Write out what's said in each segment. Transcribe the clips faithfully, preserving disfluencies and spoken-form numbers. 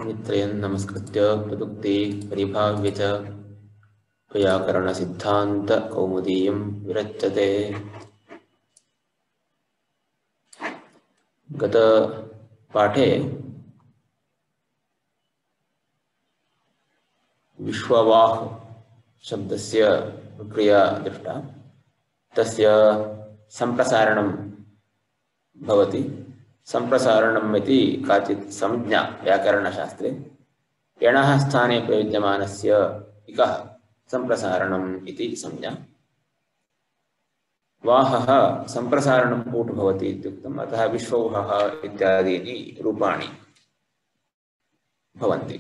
मित्रयन् नमस्कृत्य प्रदुक्ते परिभाव्य च व्याकरणसिद्धान्तकौमुदीयं विरच्यते। गतपाठे विश्ववाह शब्दस्य प्रक्रिया दृष्टा, तस्य सम्प्रसारणं भवति। सम्प्रसारणम् इति काचित् संज्ञा व्याकरणशास्त्रे यणः स्थाने प्रयुज्यमानस्य इकः सम्प्रसारणम् इति संज्ञा। वाहः सम्प्रसारणं कूट भवति इत्युक्तम्, अतः विश्ववाहः इत्यादीनि रूपाणि भवन्ति।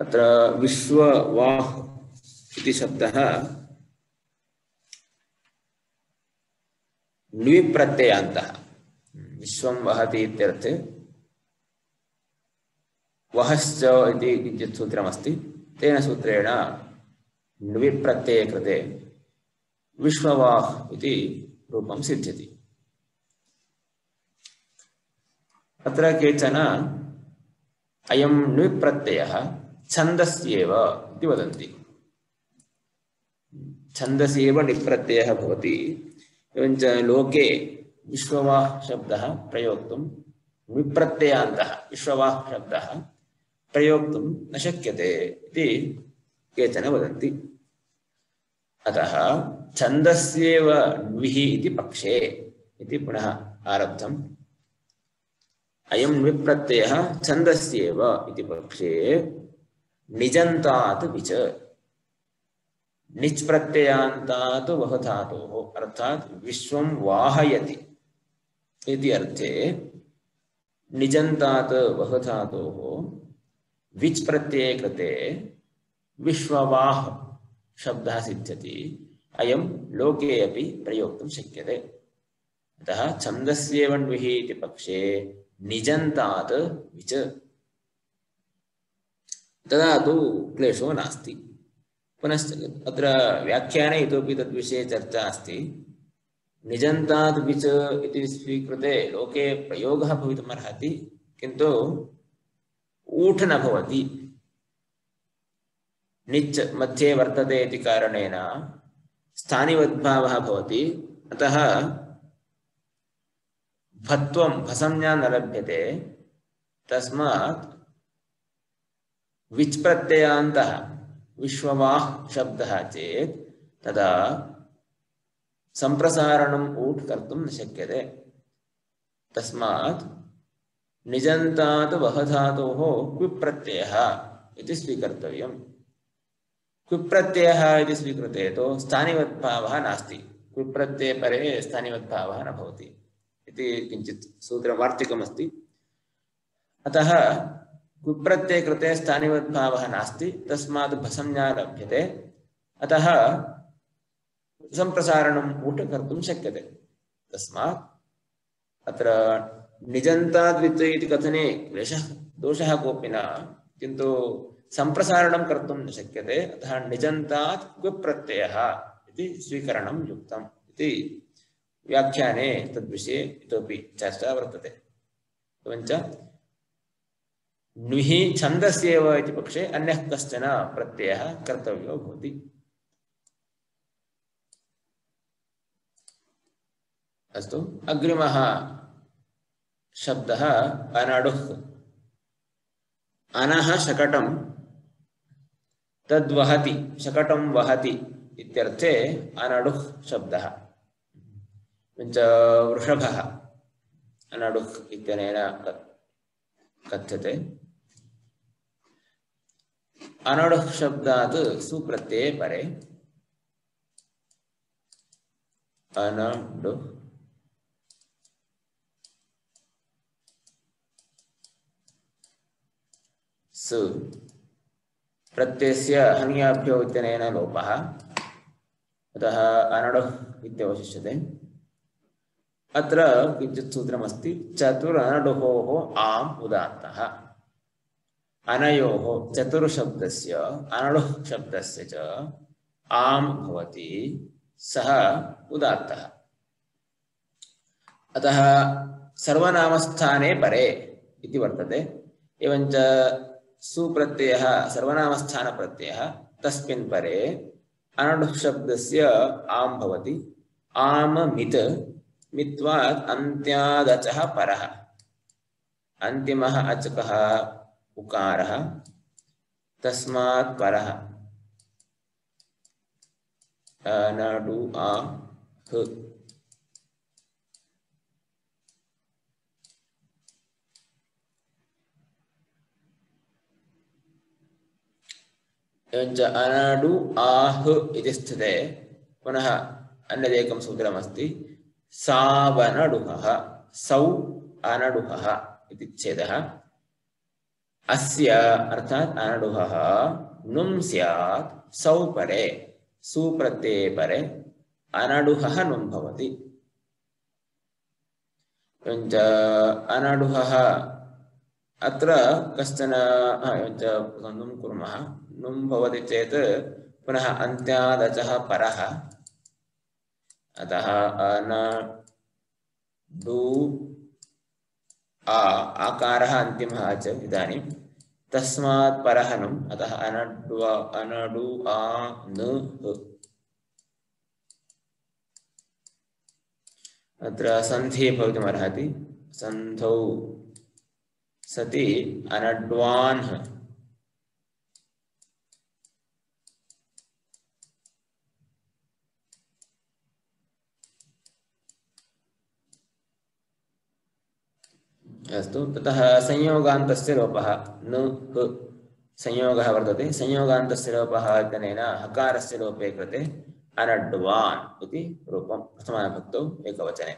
अत्र विश्ववाह इति शब्दः ण्विप्रत्ययान्तः। विश्वं वहति इत्यर्थे वहश्च इति किञ्चित् सूत्रमस्ति। तेन सूत्रेण ण्विप्रत्यये कृते विश्ववाह इति रूपं सिद्ध्यति। अत्र केचन अयं ण्विप्रत्ययः छन्दस्येव इति वदन्ति। छन्दसि एव णिप्रत्ययः भवति। एवञ्च लोके विश्ववाह शब्दः प्रयोक्तुं णिप्रत्ययान्तः विश्ववाह शब्दः प्रयोक्तुं न शक्यते इति केचन वदन्ति। अतः छन्दस्येव ण्विः इति पक्षे इति पुनः आरब्धम्। अयं णिप्रत्ययः छन्दस्येव इति पक्षे निजन्तात् विच, निच् प्रत्ययान्तात् वह धातोः अर्थात् विश्वं वाहयति इति अर्थे निजन्तात् वह धातोः विच् प्रत्यये कृते विश्ववाह शब्दः सिद्ध्यति। अयं लोके अपि प्रयोक्तुं शक्यते। अतः छन्दस्येव ण्विः इति पक्षे निजन्तात् विच, तदा तु क्लेशो नास्ति। पुनश्च अत्र व्याख्याने इतोपि तद्विषये चर्चा अस्ति। निजन्तात् विच इति स्वीकृते लोके प्रयोगः भवितुमर्हति, किन्तु ऊठ् न भवति। निच् मध्ये वर्तते इति कारणेन स्थानिवद्भावः भवति। अतः भत्वं भसंज्ञा न लभ्यते। तस्मात् विच् प्रत्ययान्तः विश्ववाह शब्दः चेत् तदा सम्प्रसारणम् ऊट् कर्तुं न शक्यते। तस्मात् निजन्तात् वह धातोः क्विप्रत्ययः इति स्वीकर्तव्यम्। क्विप्रत्ययः इति स्वीकृते तु स्थानिवद्भावः नास्ति। क्विप्रत्यये परे स्थानिवद्भावः न भवति इति किञ्चित् सूत्रवार्तिकमस्ति। अतः क्विप्रत्यये कृते स्थानिवद्भावः नास्ति, तस्मात् भसंज्ञा लभ्यते। अतः सम्प्रसारणम् ऊट् कर्तुं शक्यते। तस्मात् अत्र निजन्ताद् विच इति कथने क्लेशः दोषः कोऽपि न, किन्तु सम्प्रसारणं कर्तुं न शक्यते। अतः निजन्तात् क्विप्रत्ययः इति स्वीकरणं युक्तम् इति व्याख्याने तद्विषये इतोपि चर्चा वर्तते। एवञ्च ण्विः छन्दस्येव इति पक्षे अन्यः कश्चन प्रत्ययः कर्तव्यो भवति। अस्तु, अग्रिमः शब्दः अनडुः। अनः शकटं तद्वहति, शकटं वहति इत्यर्थे अनडुः शब्दः। एवञ्च वृषभः अनडुः इत्यनेन कथ्यते। अनडुः शब्दात् सुप्रत्यये परे अनडुः सु प्रत्ययस्य हन्याभ्यो इत्यनेन लोपः, अतः अनडुः इत्यवशिष्यते। अत्र किञ्चित् सूत्रमस्ति। चतुरनडुहोः आम् उदात्तः। अनयोः चतुर्शब्दस्य अनडुः शब्दस्य च आम् भवति, सः उदात्तः। अतः सर्वनामस्थाने परे इति वर्तते। एवञ्च सुप्रत्ययः सर्वनामस्थानप्रत्ययः तस्मिन् परे अनडुः शब्दस्य आम् भवति। आम मित् मित्वात् अन्त्यादचः परः अन्तिमः अचकः उकारः तस्मात् परः अनडु आ ह एवञ्च अनडु आह इति स्थिते पुनः अन्यदेकं सूत्रमस्ति सावनडुहः सौ अनडुहः इति छेदः अस्य अर्थात् अनडुहः नुं स्यात् सौ परे सुप्रत्यये परे अनडुहः नुं भवति। एवञ्च अनडुहः अत्र कश्चन एवञ्च नुं कुर्मः नुं भवति चेत् पुनः अन्त्यादचः परः अतः अनडु आ आकारः अन्तिमः च इदानीं तस्मात् परः नुम् अतः अनडु अनडु आ न अत्र सन्धिः भवितुमर्हति सन्धौ सति अनड्वान् अस्तु ततः संयोगान्तस्य लोपः न ह संयोगः वर्तते संयोगान्तस्य लोपः इत्यनेन हकारस्य लोपे कृते अनड्वान् इति रूपं प्रथमाविभक्तौ एकवचने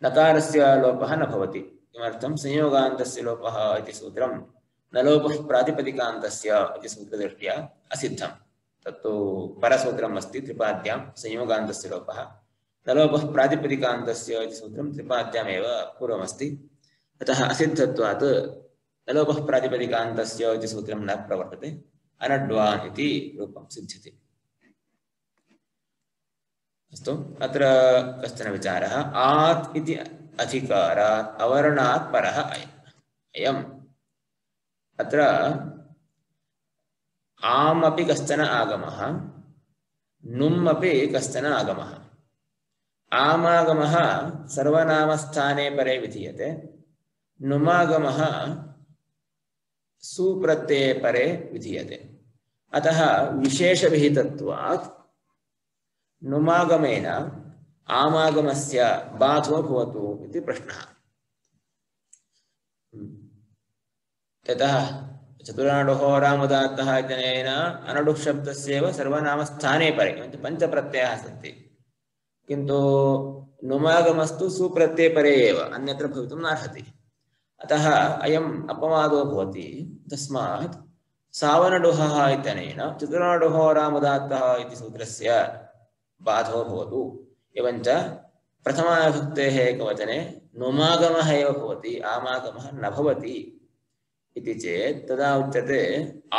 नकारस्य लोपः न भवति किमर्थं संयोगान्तस्य लोपः इति सूत्रं न लोपः प्रातिपदिकान्तस्य इति सूत्रदृष्ट्या असिद्धं तत्तु परसूत्रम् अस्ति त्रिपाद्यां संयोगान्तस्य लोपः न लोपः प्रातिपदिकान्तस्य इति सूत्रं त्रिपाद्यामेव पूर्वमस्ति अतः असिद्धत्वात् नलोपः प्रातिपदिकान्तस्य इति सूत्रं न प्रवर्तते अनड्वान् इति रूपं सिद्ध्यति। अस्तु अत्र कश्चन विचारः आत् इति अधिकारात् अवर्णात् परः अयम् अत्र आम् अपि कश्चन आगमः नुम् अपि कश्चन आगमः आमागमः सर्वनामस्थाने परे विधीयते नुमागमः सुप्रत्यये परे विधीयते अतः विशेषविहितत्वात् नुमागमेन आमागमस्य बाधो भवतु इति प्रश्नः। ततः चतुराणुः रामुदात्तः इत्यनेन अनडुः शब्दस्यैव सर्वनामस्थाने परे पञ्चप्रत्ययाः सन्ति किन्तु नुमागमस्तु सुप्रत्यये परे एव अन्यत्र भवितुं नार्हति अतः अयम् अपवादो भवति तस्मात् सावनडुहः इत्यनेन चतुराणुः रामुदात्तः इति सूत्रस्य बाधो भवतु एवञ्च प्रथमाविभक्तेः एकवचने नुमागमः एव भवति आमागमः न भवति इति चेत् तदा उच्यते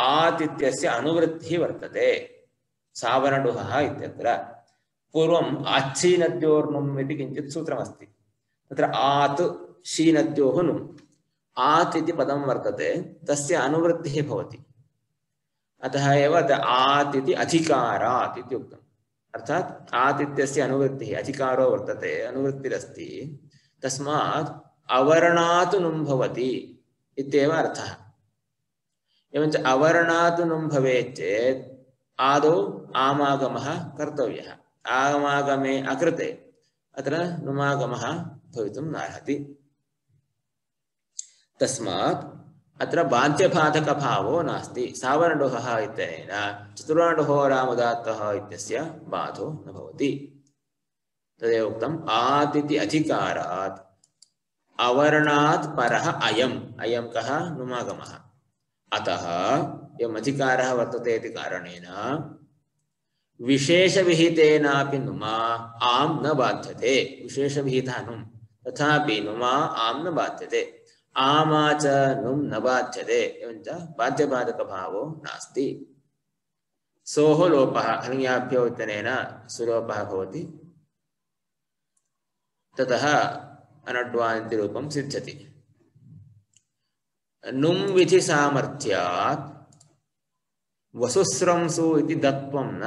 आत् इत्यस्य अनुवृत्तिः वर्तते सावनडुहः इत्यत्र पूर्वम् आच्छीनद्योर्नुम् इति किञ्चित् सूत्रमस्ति तत्र आत् शीनद्योः नुम् आत् इति पदं वर्तते तस्य अनुवृत्तिः भवति अतः एव आत् इति अधिकारात् इति उक्तम् अर्थात् आत् इत्यस्य अनुवृत्तिः अधिकारो वर्तते अनुवृत्तिरस्ति तस्मात् अवर्णात् नुम् भवति इत्येव अर्थः। एवञ्च अवर्णात् नुम् भवेत् चेत् आदौ आमागमः कर्तव्यः आमागमे अकृते अत्र नुमागमः भवितुं नार्हति तस्मात् अत्र बाध्यबाधकभावो नास्ति सावनडुहः इत्यनेन चतुराणुः रामुदात्तः इत्यस्य बाधो न भवति तदेव उक्तम् आत् इति अधिकारात् अवर्णात् परः अयम् अयं कः नुमागमः अतः यम् अधिकारः वर्तते इति कारणेन विशेषविहितेनापि नुमा आम् न बाध्यते विशेषविहितः नुम् तथापि नुमा आम् न बाध्यते आमा च नुम् न बाध्यते एवञ्च बाध्यबाधकभावो नास्ति सोः लोपः हन्याभ्यो इत्यनेन सुलोपः भवति ततः अनड्वान् इति रूपं सिद्ध्यति। नुम विधि सामर्थ्यात् वसुस्रंसु इति दत्वं न।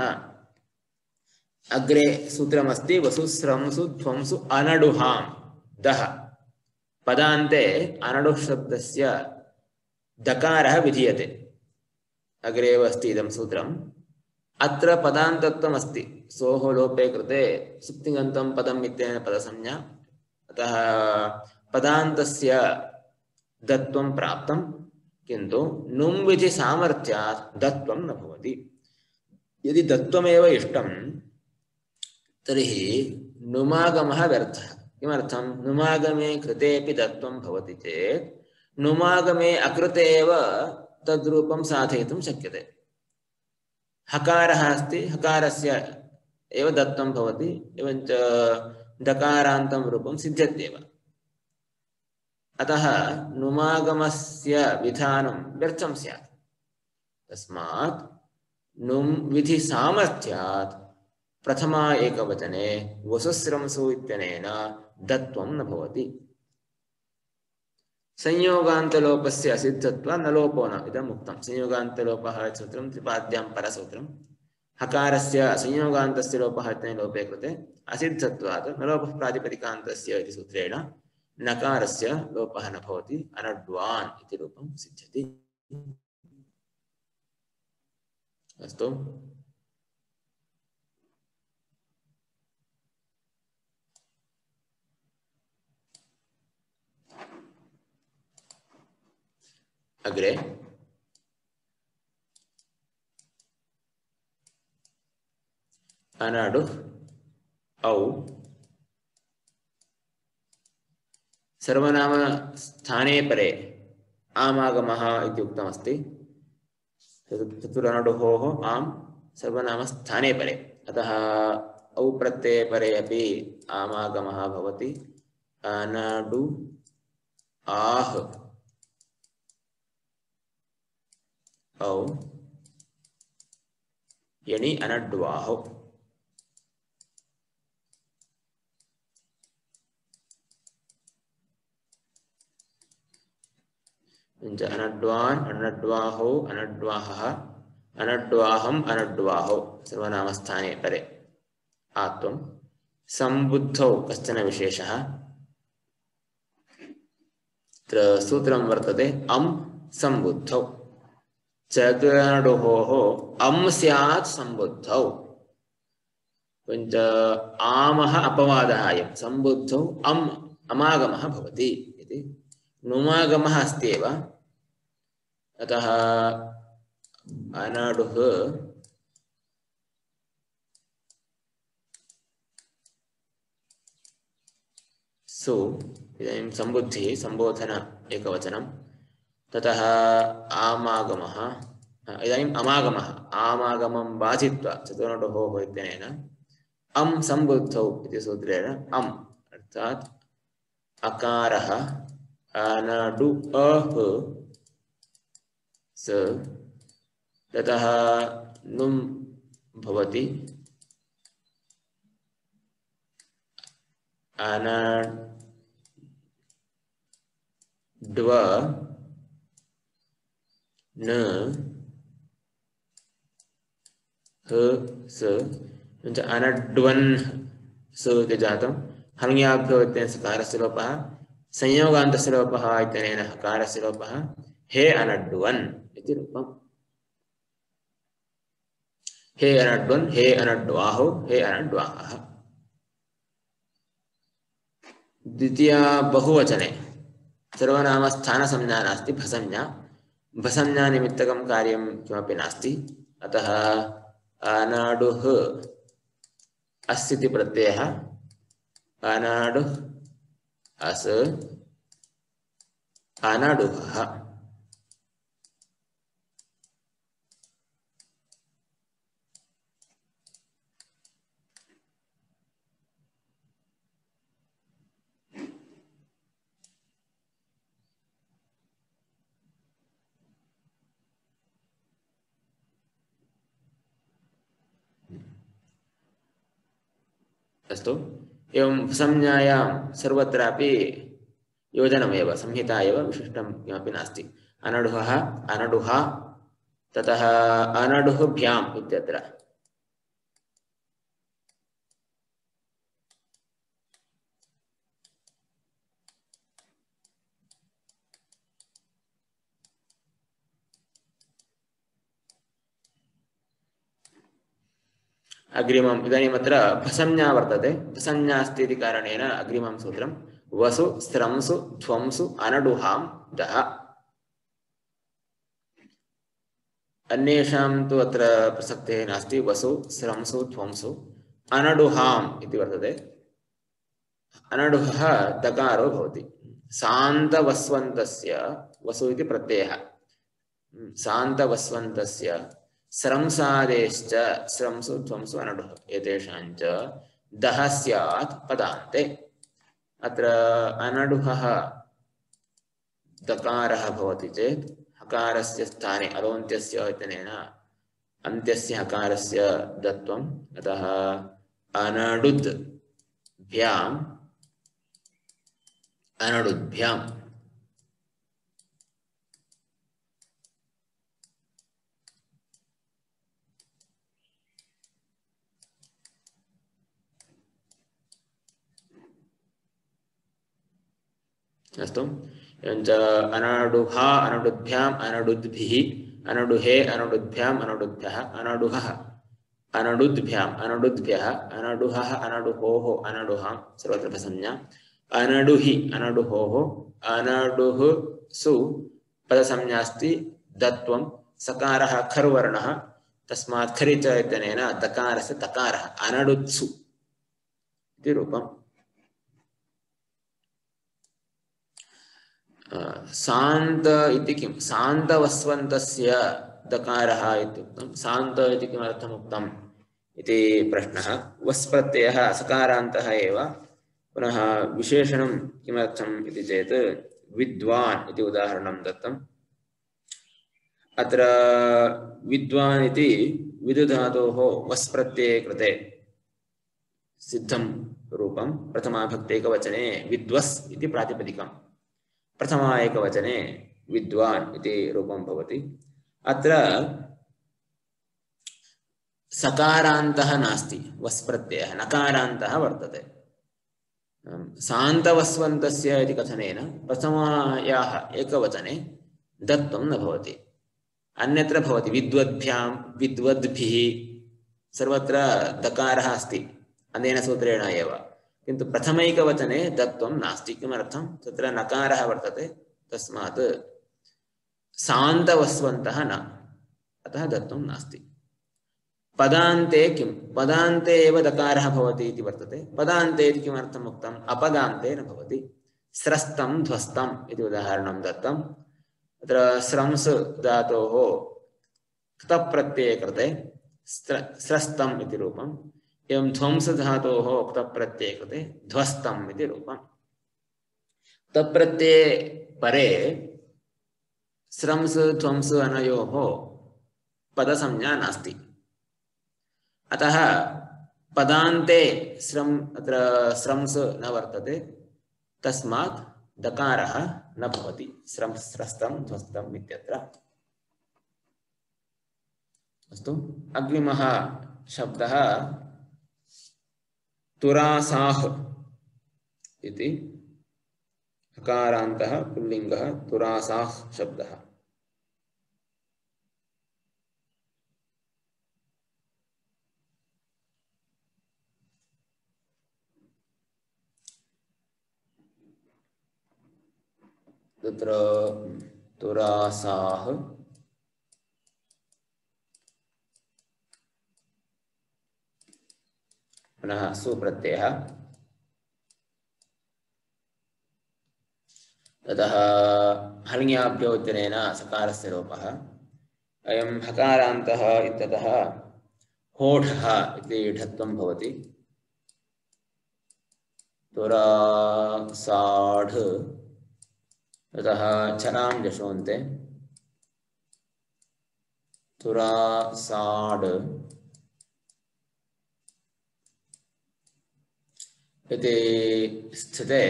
अग्रे सूत्रमस्ति वसुस्रंसु ध्वंसु अनडुहां दः पदान्ते अनडुः शब्दस्य दकारः विधीयते। अग्रे एव अस्ति इदं सूत्रम्। अत्र पदान्तत्वम् अस्ति। सोः लोपे कृते सुप्तिङन्तं पदम् इत्यनेन पदसंज्ञा। अतः पदान्तस्य दत्वं प्राप्तं, किन्तु नुं विधि सामर्थ्यात् दत्वं न भवति। यदि दत्वमेव इष्टं तर्हि नुमागमः व्यर्थः। किमर्थं? नुमागमे कृतेपि दत्वं भवति चेत् नुमागमे अकृते एव तद्रूपं साधयितुं शक्यते। हकारः अस्ति, हकारस्य एव दत्तं भवति, एवञ्च दकारान्तं रूपं सिद्ध्यत्येव। अतः नुमागमस्य विधानं व्यर्थं स्यात्। तस्मात् नुं विधि सामर्थ्यात् प्रथमा एकवचने वसुस्रंसु इत्यनेन दत्वं न भवति। संयोगान्तलोपस्य असिद्धत्वात् न लोपो न इदम् उक्तं। संयोगान्तलोपः सूत्रं त्रिपाद्यां परसूत्रं। हकारस्य संयोगान्तस्य लोपः इत्यनेन लोपे कृते असिद्धत्वात् न लोपः प्रातिपदिकान्तस्य इति सूत्रेण नकारस्य लोपः न भवति, अनड्वान् इति रूपं सिद्ध्यति। अस्तु। अग्रे अनडु औ सर्वनाम स्थाने परे आमागमः इति उक्तमस्ति। चतुरनडुहोः आम् सर्वनाम स्थाने परे, अतः औ प्रत्यये परे अपि आमागमः भवति। अनडु आह औ यणि अनड्वाहो। अनड्वान् अनड्वाहो अनड्वाहः अनड्वाहम् अनड्वाहो सर्वनामस्थाने परे आत्वं। सम्बुद्धौ कश्चन विशेषः। अत्र सूत्रं वर्तते अं सम्बुद्धौ। चतुरनडुहोः अं स्यात् सम्बुद्धौ। किञ्च आमः अपवादः अयं। सम्बुद्धौ अम् अमागमः भवति इति। नुमागमः अस्ति एव, अतः अनडुः सु इदानीं सम्बुद्धिः सम्बोधन एकवचनं, ततः आमागमः इदानीम् अमागमः आमागमं बाधित्वा चतुर्नडुहोः इत्यनेन अं सम्बुद्धौ इति सूत्रेण अम् अर्थात् अकारः अनडु अः स ततः नुं भवति। अनड्व न ह स अनड्वन् स इति जातं। हल्ङ्याभ्यो इत्यनेन सकारस्य लोपः, संयोगान्तस्य लोपः इत्यनेन हकारस्य लोपः। हे अनड्वन् इति रूपम्। हे अनड्वन्, हे अनड्वाहो, हे अनड्वाहः। द्वितीया बहुवचने सर्वनाम स्थानसंज्ञा नास्ति, भसंज्ञा। भसंज्ञा निमित्तकं कार्यं किमपि नास्ति, अतः अनाडुः अस्ति प्रत्ययः अनाडुः अस् अनाडुः। अस्तु। एवं संज्ञायां सर्वत्रापि योजनमेव, संहिता एव, विशिष्टं किमपि नास्ति। अनडुहः अनडुहा ततः अनडुभ्याम् इत्यत्र अग्रिमम् इदानीम् अत्र भसंज्ञा वर्तते भसंज्ञा अस्ति इति कारणेन अग्रिमं सूत्रं वसु स्रंसु ध्वंसु अनडुहां दः अन्येषां तु अत्र प्रसक्तिः नास्ति वसु स्रंसु ध्वंसु अनडुहाम् इति वर्तते अनडुहः दकारो भवति सान्तवस्वन्तस्य वसु इति प्रत्ययः सान्तवस्वन्तस्य स्रंसादेश्च स्रंसु ध्वंसु अनडुः एतेषाञ्च दः स्यात् पदान्ते अत्र अनडुहः दकारः भवति चेत् हकारस्य स्थाने अलोन्त्यस्य इत्यनेन अन्त्यस्य हकारस्य दत्वम् अतः अनडुद् भ्याम् अनडुद्भ्याम् अस्तु एवञ्च अनडुहा अनडुभ्याम् अनडुद्भिः अनडुहे अनडुद्भ्याम् अनडुद्भ्यः अनडुहः अनडुद्भ्याम् अनडुद्भ्यः अनडुहः अनडुहोः अनडुहां सर्वत्र भसंज्ञा अनडुहि अनडुहोः अनडुहसु पदसंज्ञास्ति दत्वं सकारः खर्वर्णः तस्मात् खरि च इत्यनेन दकारस्य तकारः अनडुत्सु इति रूपम् शान्त इति किं शान्तवस्वन्तस्य दकारः इत्युक्तं शान्त इति किमर्थम् उक्तम् इति प्रश्नः वस् प्रत्ययः सकारान्तः एव पुनः विशेषणं किमर्थम् इति चेत् विद्वान् इति उदाहरणं दत्तम् अत्र विद्वान् इति विदुधातोः वस् प्रत्यये कृते सिद्धं रूपं प्रथमा भक्तेकवचने विद्वस् इति प्रातिपदिकम् प्रथमा एकवचने विद्वान् इति रूपं भवति अत्र सकारान्तः नास्ति वस् प्रत्ययः नकारान्तः वर्तते शान्तवस्वन्तस्य इति कथनेन प्रथमायाः एकवचने दत्वं न भवति अन्यत्र भवति विद्वद्भ्यां विद्वद्भिः सर्वत्र दकारः अस्ति अनेन सूत्रेण एव किन्तु प्रथमैकवचने दत्वं नास्ति किमर्थं तत्र नकारः वर्तते तस्मात् शान्तवस्वन्तः न अतः दत्वं नास्ति पदान्ते किं पदान्ते एव दकारः भवति इति वर्तते पदान्ते इति किमर्थम् उक्तम् अपदान्ते न भवति स्रस्तं ध्वस्तम् इति उदाहरणं दत्तम् अत्र स्रंस् धातोः क्तप्रत्यये कृते स्रस्तम् इति रूपम् एवं ध्वंस धातोः क्तप्रत्यये कृते ध्वस्तम् इति रूपम् तप्रत्यये परे स्रंस् ध्वंस अनयोः पदसंज्ञा नास्ति अतः पदान्ते स्रम् अत्र स्रंस् न वर्तते तस्मात् दकारः न भवति स्रंस् स्रस्तं ध्वस्तम् इत्यत्र अस्तु अग्रिमः शब्दः तुरासाः इति हकारान्तः पुल्लिङ्गः तुरासाः शब्दः तत्र तुरासाः पुनः सुप्रत्ययः ततः हल्ङ्याभ्यो इत्यनेन सकारस्य लोपः अयं हकारान्तः इत्यतः होठः इति ढत्वं भवति तुरासाढ ततः चरां जशोन्ते तुरासाड इति स्थिते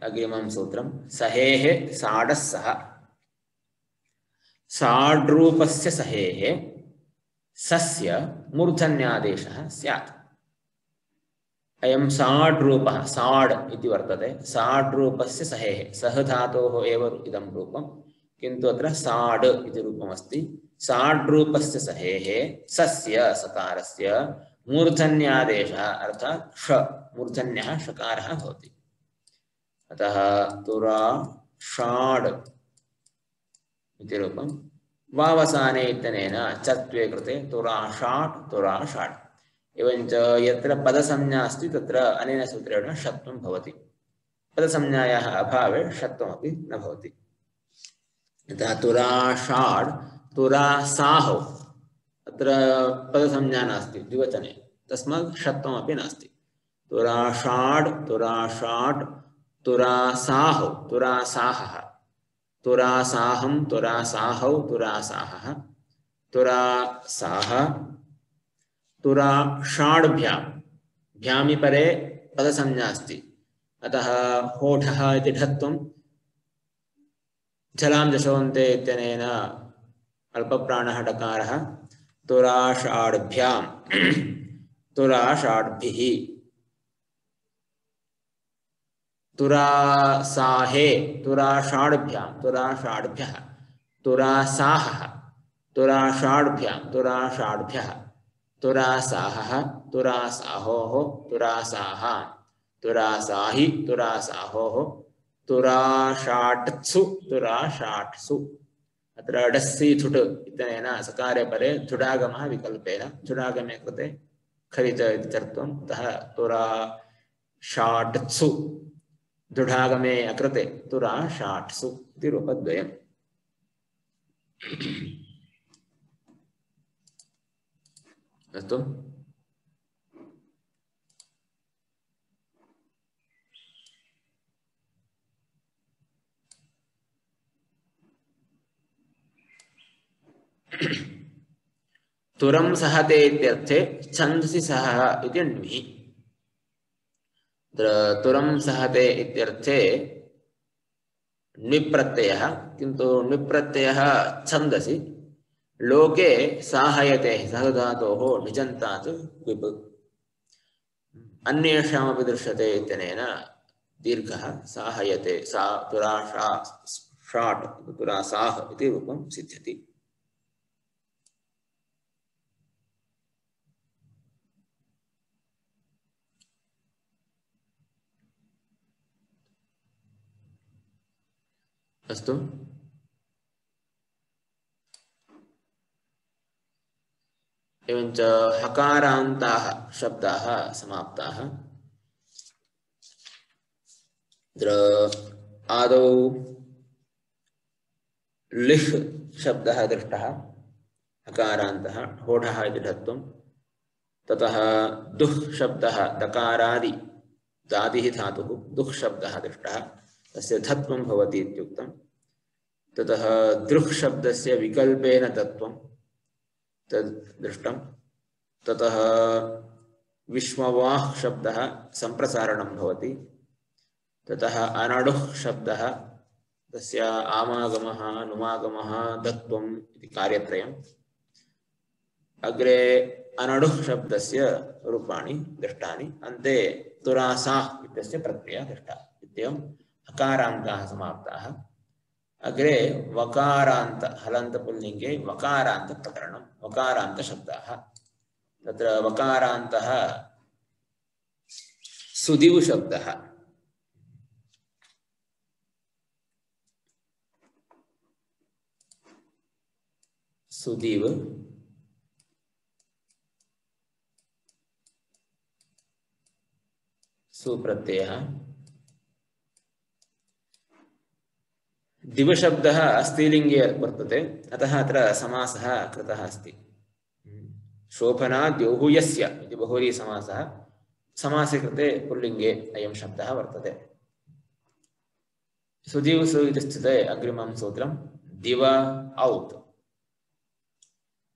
अग्रिमं सूत्रं सहेः साडः सः साड्रूपस्य सहेः सस्य मूर्धन्यादेशः स्यात्। अयं साड्रूपः साड् इति वर्तते। साड्रूपस्य सहेः सह धातोः एव इदं रूपं, किन्तु अत्र साड् इति रूपमस्ति। साड्रूपस्य सहेः सस्य सकारस्य मूर्धन्यादेशः अर्थात् ष मूर्धन्यः षकारः भवति। अतः तुरा षाड् इति रूपं। वावसाने इत्यनेन चत्वे कृते तुरा षाट् तुरा षाड्। एवञ्च यत्र पदसंज्ञा अस्ति तत्र अनेन सूत्रेण षत्वं भवति। पदसंज्ञायाः अभावे षत्वमपि न भवति। यथा तुरा षाड् तुरा साहौ अत्र पदसंज्ञा नास्ति द्विवचने, तस्मात् षत्वमपि नास्ति। तुरा षाड् तुरा षाट् तुरा साहौ तुरा साहः तुरा साहं तुरा साहौ तुरा साहः तुरा साह तुरा षाड्भ्यां भ्यामि परे पदसंज्ञा अस्ति, अतः होठः इति ढत्वं झलां जशोन्ते इत्यनेन अल्पप्राणः डकारः तुरा षाड्भ्यां तुरा षाड्भिः तुरा साहे तुरा षाड्भ्यां तुरा षाड्भ्यः तुरा साहः तुरा षाड्भ्यां तुरा षाड्भ्यः तुरा साहः तुरा साहोः तुरा साहा तुरा साहि तुरा साहोः तुरा षाट्सु तुरा षाट्सु। अत्र डस्सी थुट् इत्यनेन सकारे परे धुडागमः विकल्पेन धुडागमे कृते खरिच इति चर्त्वम्, अतः तुरा षाट्सु धुडागमे अकृते तुरा षाट्सु इति रूपद्वयम्। अस्तु। तुरं सहते इत्यर्थे छन्दसि सहः इति ण्विः। तुरं सहते इत्यर्थे ण्विप्रत्ययः, किन्तु ण्विप्रत्ययः छन्दसि लोके साहयते सह धातोः निजन्तात् विप् अन्येषामपि दृश्यते इत्यनेन दीर्घः साहयते सा तुरा शा षाट् तुरा साह इति रूपं सिद्ध्यति। अस्तु। एवञ्च हकारान्ताः शब्दाः समाप्ताः। अत्र आदौ लिह् शब्दः दृष्टः हकारान्तः होठः इति ढत्वं, ततः दुः शब्दः दकारादि दादिः धातुः दुः शब्दः दृष्टः तस्य धत्वं भवति इत्युक्तं, ततः दृह् शब्दस्य विकल्पेन तत्वं तद् दृष्टं, ततः विश्ववाह् शब्दः सम्प्रसारणं भवति, ततः अनडुः शब्दः तस्य आमागमः नुमागमः दत्वम् इति कार्यत्रयम्। अग्रे अनडुः शब्दस्य रूपाणि दृष्टानि, अन्ते तुरासाः इत्यस्य प्रत्ययः दृष्टः। इत्येवं हकारान्ताः समाप्ताः। अग्रे वकारान्त हलन्त पुल्लिङ्गे वकारान्त प्रकरणं वकारान्त शब्दाः। तत्र वकारान्तः सुदिव् शब्दः। सुदिव् सुप्रत्ययः। दिवशब्दः स्त्रीलिङ्गे वर्तते, अतः अत्र समासः कृतः अस्ति। शोभना द्यौहुयस्य इति बहुव्रीहि समासः, समासे कृते पुल्लिङ्गे अयं शब्दः वर्तते। सुदिव् सु इति स्थिते अग्रिमं सूत्रं दिव औत्।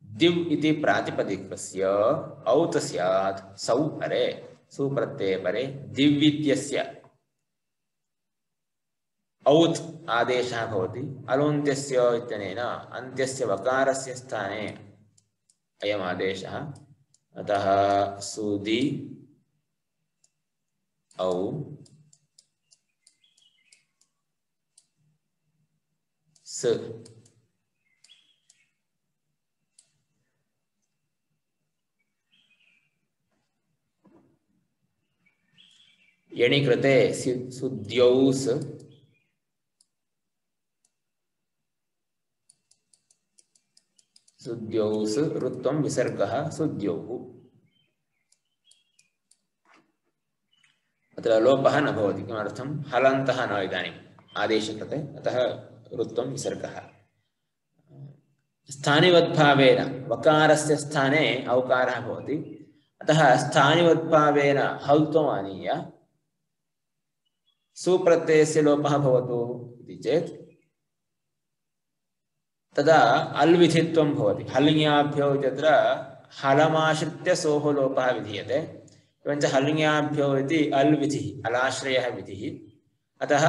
दिव् इति प्रातिपदिकस्य औत् स्यात् सौ परे सुप्रत्यये परे दिव् इत्यस्य औत् आदेशः भवति अलोन्त्यस्य इत्यनेन अन्त्यस्य वकारस्य स्थाने अयम् आदेशः अतः सुदि औ स यणि कृते सुद्यौस् सुद्यौस् ऋत्वं विसर्गः सुद्यौः अत्र लोपः न भवति किमर्थं हलन्तः न इदानीम् आदेशकृते अतः ऋत्वं विसर्गः स्थानिवद्भावेन वकारस्य स्थाने औकारः भवति अतः स्थानिवद्भावेन हल्त्वम् आनीय सुप्रत्ययस्य लोपः भवतु इति चेत् तदा अल्विधित्वं भवति हल्ङ्याभ्यो इत्यत्र हलमाश्रित्य सोः लोपः विधीयते एवञ्च हल्ङ्याभ्यो इति अल्विधिः अलाश्रयः विधिः अतः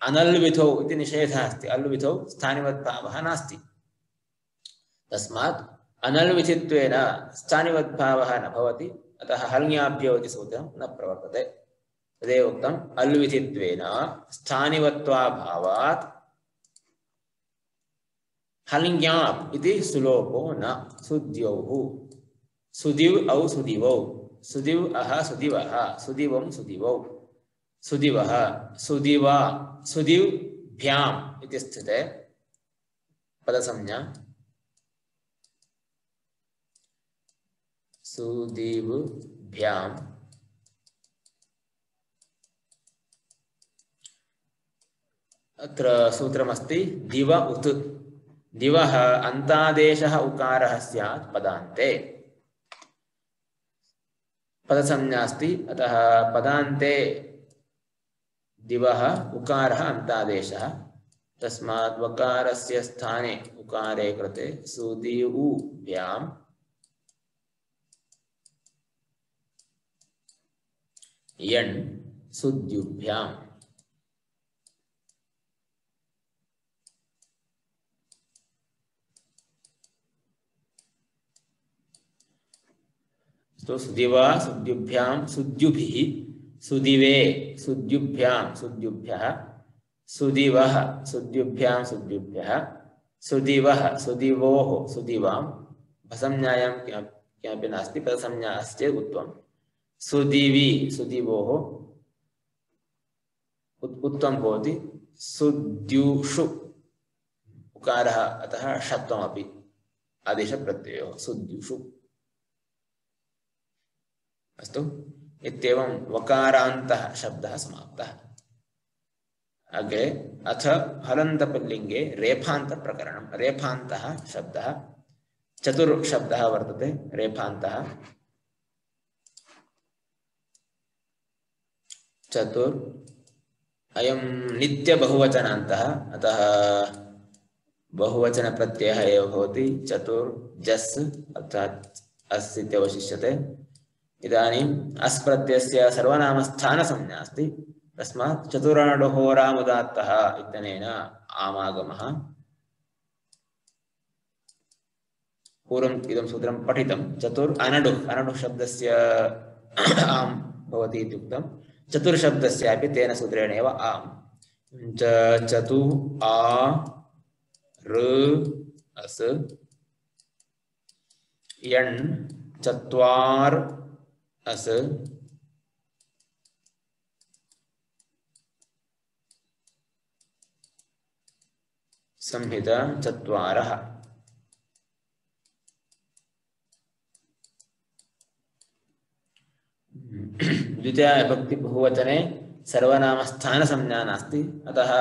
अनल्विधौ इति निषेधः अस्ति अल्विधौ स्थानिवद्भावः नास्ति तस्मात् अनल्विधित्वेन स्थानिवद्भावः न भवति अतः हल्ङ्याभ्यो इति सूत्रं न प्रवर्तते तदेव उक्तम् अल्विधित्वेन स्थानिवत्वाभावात् हल्ङ्याप् इति सुलोपो न सुद्यौः सुदिव् औ सुदिवौ सुदिव् अह सुदिवः सुदिवं सुदिवौ सुदिवः सुदिवा सुदिव्भ्याम् इति स्थिते पदसंज्ञा सुदिव्भ्याम् अत्र सूत्रमस्ति दिव उत् दिवः अन्तादेशः उकारः स्यात् पदान्ते पदसंज्ञा अस्ति अतः पदान्ते दिवः उकारः अन्तादेशः तस्मात् वकारस्य स्थाने उकारे कृते सुदिवुभ्याम् यण् सुद्युभ्याम् तो सुदिवा सुद्युभ्यां सुद्युभिः सुदिवे सुद्युभ्यां सुद्युभ्यः सुदिवः सुद्युभ्यां सुद्युभ्यः सुदिवः सुदिवोः सुदिवां भसंज्ञायां किमपि नास्ति पदसंज्ञा अस्ति चेत् उत्तमं सुदिवि सुदिवोः उत्तमं भवति सुद्युषु उकारः अतः षत्वमपि आदेशप्रत्ययोः सुद्युषु अस्तु इत्येवं वकारान्तः शब्दः समाप्तः अग्रे अथ हलन्तपुल्लिङ्गे रेफान्तप्रकरणं रेफान्तः शब्दः चतुर्शब्दः वर्तते रेफान्तः चतुर् अयं नित्यबहुवचनान्तः अतः बहुवचनप्रत्ययः एव भवति चतुर्जस् अर्थात् अस् इत्यवशिष्यते इदानीम् अस् प्रत्ययस्य सर्वनामस्थानसंज्ञा अस्ति तस्मात् चतुरणडुहोरामुदात्तः इत्यनेन आमागमः पूर्वम् इदं सूत्रं पठितं चतुर् अनडुः अनडुः शब्दस्य आम् भवति इत्युक्तं चतुर्शब्दस्यापि तेन सूत्रेण एव आम् च चतु आ ऋ अस् यण् चत्वार् अस् संहिता चत्वारः द्वितीया विभक्ति बहुवचने सर्वनामस्थानसंज्ञा नास्ति अतः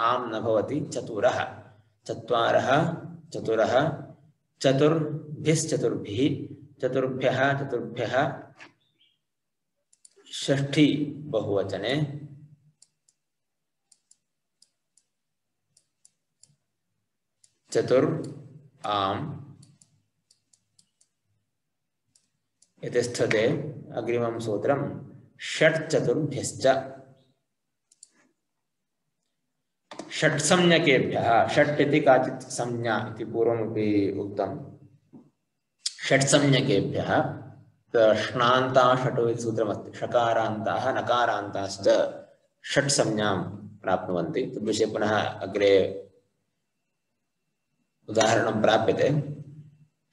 आम् न भवति चतुरः चत्वारः चतुरः चतुर्भिश्चतुर्भिः चतुर्भ्यः चतुर्भ्यः षष्ठी बहुवचने चतुर् आम् इति स्थिते अग्रिमं सूत्रं षट् चतुर्भ्यश्च षट्संज्ञकेभ्यः षट् इति काचित् संज्ञा इति पूर्वमपि उक्तं षट्संज्ञकेभ्यः श्नान्ता षटो इति सूत्रमस्ति षकारान्ताः नकारान्ताश्च षट्संज्ञां प्राप्नुवन्ति तद्विषये पुनः अग्रे उदाहरणं प्राप्यते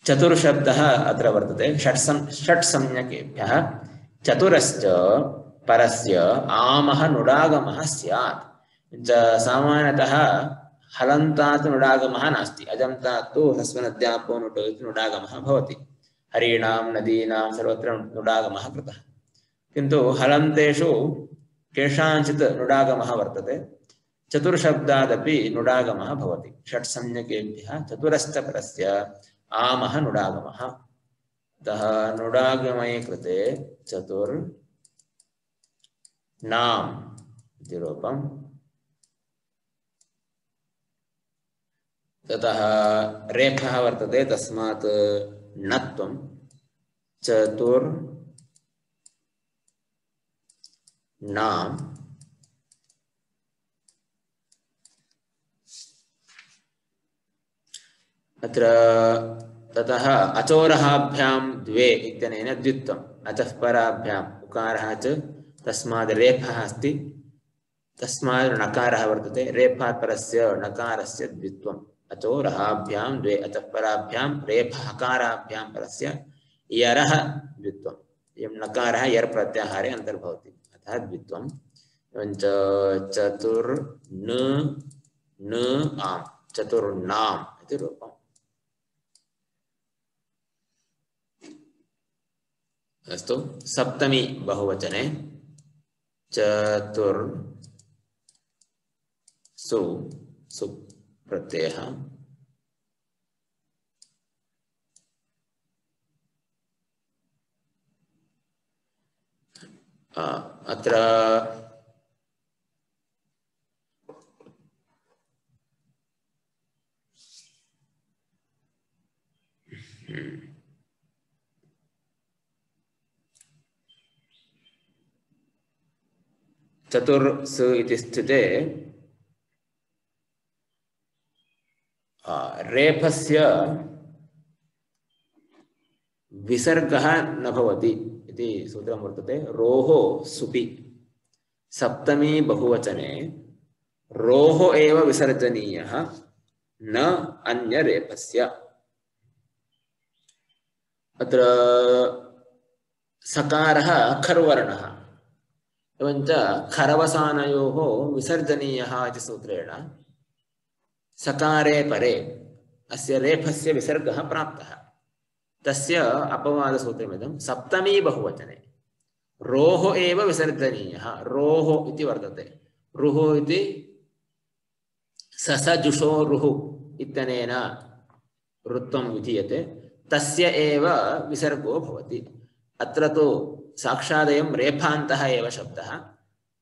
चतुर्शब्दः अत्र वर्तते षट्सं षट्संज्ञकेभ्यः चतुरश्च परस्य आमः नुडागमः स्यात् सामान्यतः हलन्तात् नुडागमः नास्ति अजन्तात् तु ह्रस्वनद्यापो नुटो इति नुडागमः भवति हरीणां नदीनां सर्वत्र नुडागमः कृतः किन्तु हलन्तेषु केषाञ्चित् नुडागमः वर्तते चतुर्शब्दादपि नुडागमः भवति षट्संज्ञकेभ्यः चतुरश्च परस्य आमः नुडागमः अतः नुडागमये कृते चतुर् नाम इति रूपम् ततः रेफः वर्तते तस्मात् नत्वं चतुर् नाम अत्र ततः अचोरहाभ्यां द्वे इत्यनेन द्वित्वम् अतः पराभ्याम् उकारः च तस्माद् रेफः अस्ति तस्माद् नकारः वर्तते रेफात् परस्य नकारस्य द्वित्वम् अचोरहाभ्यां द्वे अतः पराभ्यां रेफहकाराभ्यां परस्य यरः द्वित्वम् इयं नकारः यर् प्रत्याहारे अन्तर्भवति अतः द्वित्वम् एवञ्च चतुर् न न आम् चतुर्नाम् इति रूपम् अस्तु सप्तमी बहुवचने चतुर् सु सु प्रत्ययः अत्र चतुर्स इति स्थिते रेफस्य विसर्गः न भवति इति सूत्रं वर्तते रोः सुपि सप्तमी बहुवचने रोः एव विसर्जनीयः न अन्य रेफस्य अत्र सकारः खर्वर्णः एवञ्च खरवसानयोः विसर्जनीयः इति सूत्रेण सकारे परे अस्य रेफस्य विसर्गः प्राप्तः तस्य अपवादसूत्रमिदं सप्तमी बहुवचने रोः एव विसर्जनीयः रोः इति वर्तते रुः इति ससजुषो रुः इत्यनेन वृत्तं विधीयते तस्य एव विसर्गो भवति अत्र तु साक्षादयं रेफान्तः एव शब्दः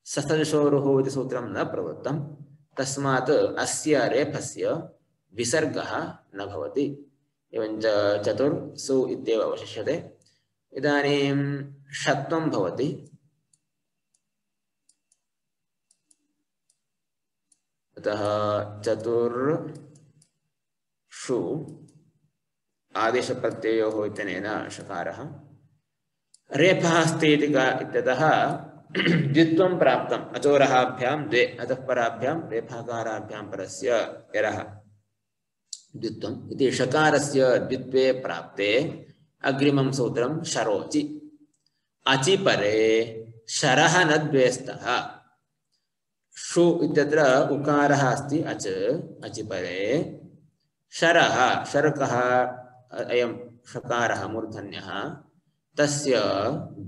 ससजुषोरुः इति सूत्रं न प्रवृत्तं तस्मात् अस्य रेफस्य विसर्गः न भवति एवञ्च चतुर् सु इत्येव अवशिष्यते इदानीं षत्वं भवति अतः चतुर् षु आदेशप्रत्ययोः इत्यनेन षकारः रेफः अस्ति इति इत्यतः द्वित्वं प्राप्तम् अचोरहाभ्यां द्वे अतः पराभ्यां रेफाकाराभ्यां परस्य यरः द्वित्वम् इति षकारस्य द्वित्वे प्राप्ते अग्रिमं सूत्रं शरोचि अचि परे शरः न द्वेस्तः षु इत्यत्र उकारः अस्ति अच अचि परे शरः शर्कः अयं षकारः मूर्धन्यः तस्य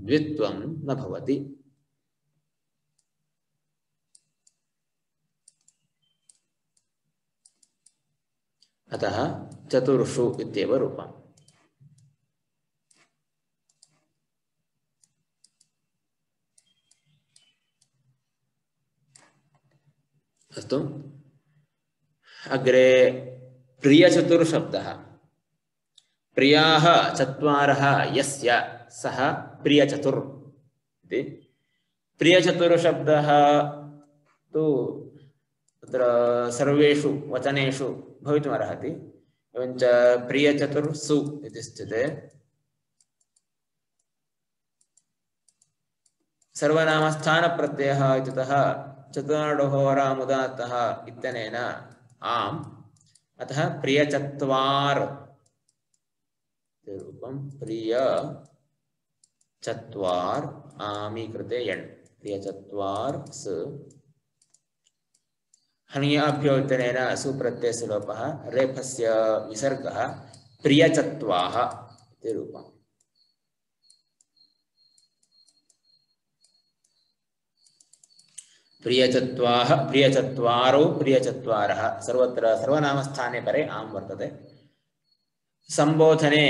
द्वित्वं न भवति अतः चतुर्षु इत्येव रूपम् अस्तु अग्रे प्रियचतुर्शब्दः प्रियाः चत्वारः यस्य सः प्रियचतुर् इति प्रियचतुर्शब्दः तु तत्र सर्वेषु वचनेषु भवितुमर्हति। एवञ्च प्रियचतुर्सु इति स्थिते सर्वनामस्थानप्रत्ययः इत्यतः चतुर्णहोरामुदात्तः इत्यनेन आम्, अतः प्रियचत्वार् रूपं प्रिय चत्वार् आमी कृते यण् प्रियचत्वार् स हन्याभ्यो इत्यनेन सुप्रत्ययस्य लोपः रेफस्य विसर्गः प्रियचत्वाः इति रूपम्। प्रियचत्वाः प्रियचत्वारो प्रियचत्वारः सर्वत्र सर्वनामस्थाने परे आम् वर्तते। संबोधने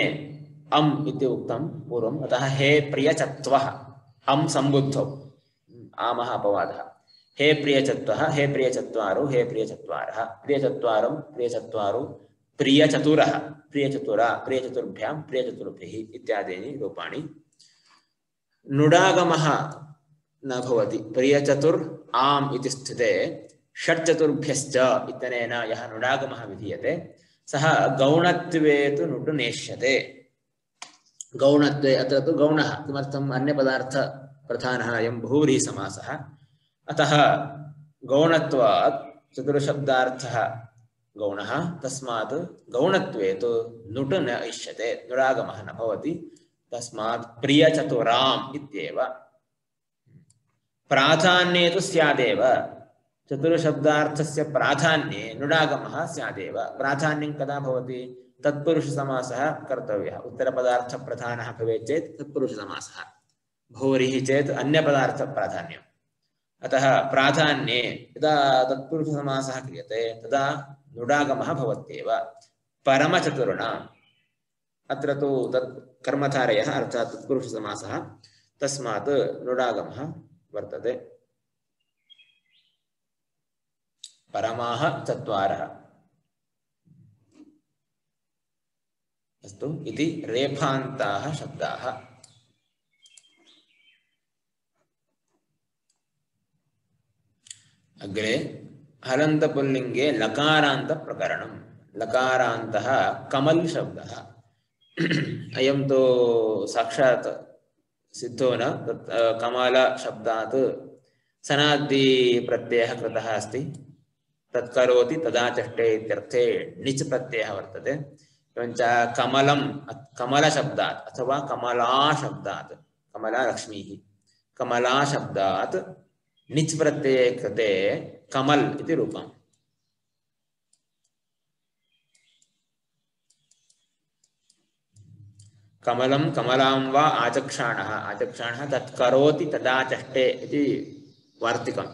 अम् इति उक्तं पूर्वम्, अतः हे प्रियचत्वः अम् सम्बुद्धौ आमः अपवादः। हे प्रियचत्वः हे प्रियचत्वारो हे प्रियचत्वारः प्रियचत्वारं प्रियचत्वारो प्रियचतुरः प्रियचतुरा प्रियचतुर्भ्यां प्रियचतुर्भिः इत्यादीनि रूपाणि। नुडागमः न भवति। प्रियचतुर् आम् इति स्थिते षट्चतुर्भ्यश्च इत्यनेन यः नुडागमः विधीयते सः गौणत्वे तु नुटु नेष्यते। गौणत्वे अत्र तु गौणः किमर्थम् अन्यपदार्थप्रधानः अयं बहुव्रीहिसमासः, अतः गौणत्वात् चतुर्शब्दार्थः गौणः, तस्मात् गौणत्वे तु नुट् न इष्यते, नुरागमः न भवति, तस्मात् प्रियचतुराम् इत्येव। प्राधान्ये तु स्यादेव, चतुर्शब्दार्थस्य प्राधान्ये नुडागमः स्यादेव। प्राधान्यं कदा भवति? तत्पुरुषसमासः कर्तव्यः। उत्तरपदार्थप्रधानः भवेत् चेत् तत्पुरुषसमासः, भूरिः चेत् अन्यपदार्थप्राधान्यम्। अतः प्राधान्ये यदा तत्पुरुषसमासः क्रियते तदा नुडागमः भवत्येव। परमचतुर्णाम् अत्र तु तत् कर्मधारयः अर्थात् तत्पुरुषसमासः, तस्मात् नुडागमः वर्तते। परमाः चत्वारः। अस्तु, इति रेफान्ताः शब्दाः। अग्रे हलन्तपुल्लिङ्गे लकारान्तप्रकरणम्। लकारान्तः कमल् शब्दः। अयं तु साक्षात् सिद्धो न, तत् कमल शब्दात् सनादि प्रत्ययः कृतः अस्ति। तत्करोति तदा चष्टे इत्यर्थे णिच् प्रत्ययः वर्तते। एवञ्च कमलं कमलशब्दात् अथवा कमला शब्दात्, कमला लक्ष्मीः, कमला शब्दात् णिच् प्रत्यये कृते कमल इति रूपम्। कमलं कमलां वा आचक्षाणः, आचक्षाणः तत्करोति तदा चष्टे इति वार्तिकम्।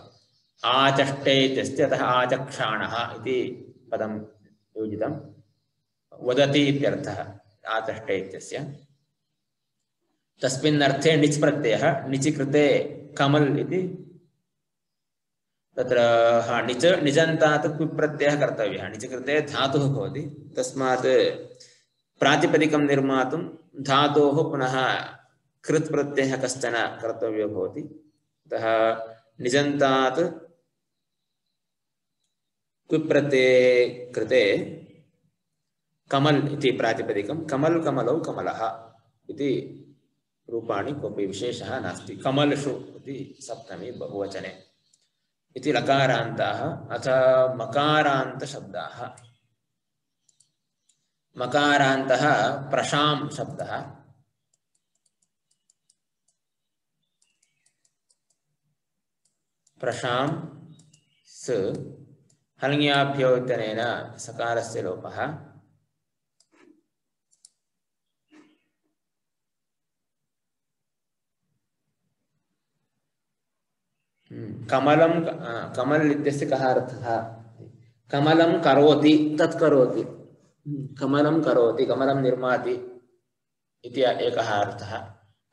आचष्टे इत्यस्य अतः आचक्षाणः इति पदं योजितं। वदति इत्यर्थः आचष्टे इत्यस्य। तस्मिन् अर्थे णिच् प्रत्ययः, णिचि कृते कमल इति तत्र हा णिच् णिजन्तात् क्विप् प्रत्ययः कर्तव्यः। णिचि कृते धातुः भवति, तस्मात् प्रातिपदिकं निर्मातुं धातोः पुनः कृत् प्रत्ययः कश्चन कर्तव्यो भवति। अतः निजन्तात् क्विप् प्रत्यये कृते कमल इति प्रातिपदिकं। कमल कमलौ कमलः इति रूपाणि, कोऽपि विशेषः नास्ति। कमलषु इति सप्तमी बहुवचने। इति लकारान्ताः। अथ मकारान्तशब्दाः। मकारान्तः प्रशां शब्दः। प्रशां स हल्ङ्याभ्यो इत्यनेन सकारस्य लोपः। कमलं कमल इत्यस्य कः अर्थः? कमलं करोति, तत् करोति। कमलं करोति, कमलं निर्माति इति एकः अर्थः।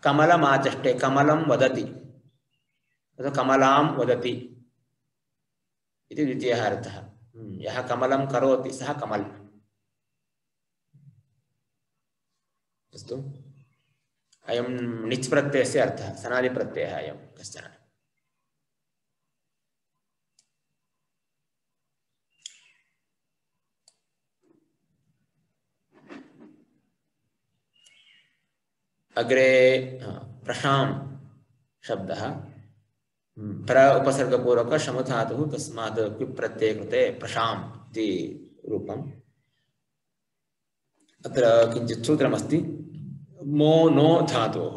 कमलमाचष्टे, कमलं वदति, तथा कमलां वदति इति द्वितीयः अर्थः। यः कमलं करोति सः कमल। अस्तु, अयं णिच् प्रत्ययस्य अर्थः, सनादि प्रत्ययः अयं कश्चन। अग्रे प्रशाम शब्दः प्र उपसर्गपूर्वक शमुधातुः तस्मात् क्विप् प्रत्यये कृते प्रशाम इति रूपम्। अत्र किञ्चित् सूत्रमस्ति। मो नो धातोः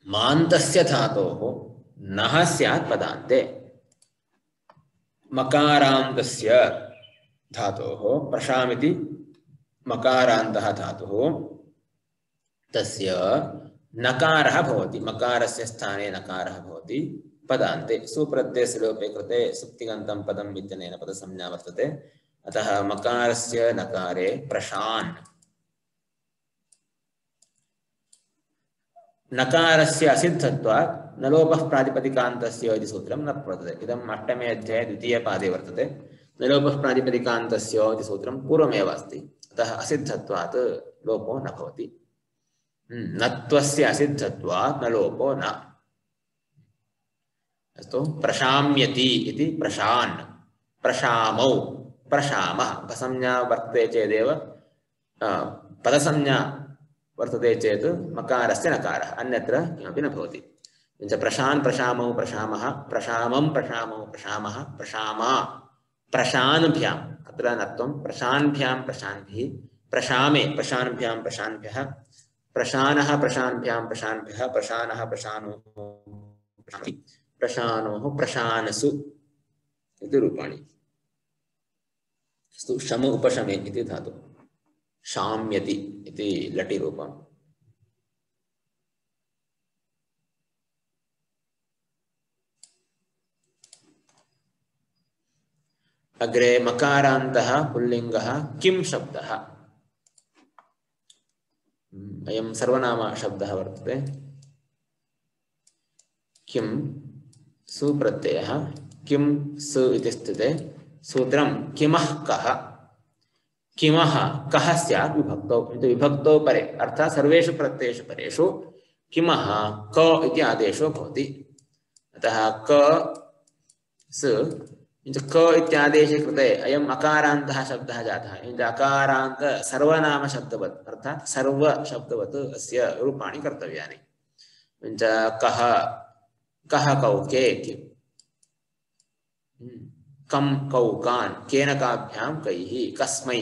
मान्तस्य धातोः नः स्यात् पदान्ते। मकारान्तस्य धातोः प्रशामिति मकारान्तः धातुः तस्य नकारः भवति। मकारस्य स्थाने नकारः भवति पदान्ते। सुप्रत्ययस्य लोपे कृते सुप्तिगन्तं पदं विद्यनेन पदसंज्ञा वर्तते। अतः मकारस्य नकारे प्रशान् नकारस्य असिद्धत्वात् न लोपः प्रातिपदिकान्तस्य इति सूत्रं न वर्तते। इदम् अष्टमे अध्याये द्वितीयपादे वर्तते। न लोपः प्रातिपदिकान्तस्य इति सूत्रं पूर्वमेव अस्ति। अतः असिद्धत्वात् लोपो न भवति। नत्वस्य असिद्धत्वात् न लोपो न। अस्तु प्रशाम्यति इति प्रशान् प्रशामौ प्रशामः उपसंज्ञा वर्तते चेदेव पदसंज्ञा वर्तते चेत् मकारस्य नकारः अन्यत्र किमपि न भवति। प्रशान् प्रशामौ प्रशामः प्रशामं प्रशामौ प्रशामः प्रशामा प्रशान्भ्याम् अत्र नत्वं प्रशान्भ्यां प्रशान्भिः प्रशामे प्रशान्भ्यां प्रशान्भ्यः प्रशानः प्रशान्भ्यां प्रशान्भ्यः प्रशानः प्रशानोः प्रशानोः प्रशानसु इति रूपाणि। अस्तु शम उपशमे इति धातुः शाम्यति इति लटि रूपम्। अग्रे मकारान्तः पुल्लिङ्गः किं शब्दः। अयं सर्वनाम शब्दः वर्तते। किं सुप्रत्ययः किं सु इति स्थिते सूत्रं किमः कः किमः कः स्यात् विभक्तौ विभक्तौ परे अर्थात् सर्वेषु प्रत्ययेषु परेषु किमः क इति आदेशो भवति। अतः क स क इत्यादेशे कृते अयम् अकारान्तः शब्दः जातः। अकारान्त सर्वनाम शब्दवत् अर्थात् सर्व शब्दवत् अस्य रूपाणि कर्तव्यानि। कः कः कौके किं कं कौकान् केन काभ्यां कैः कस्मै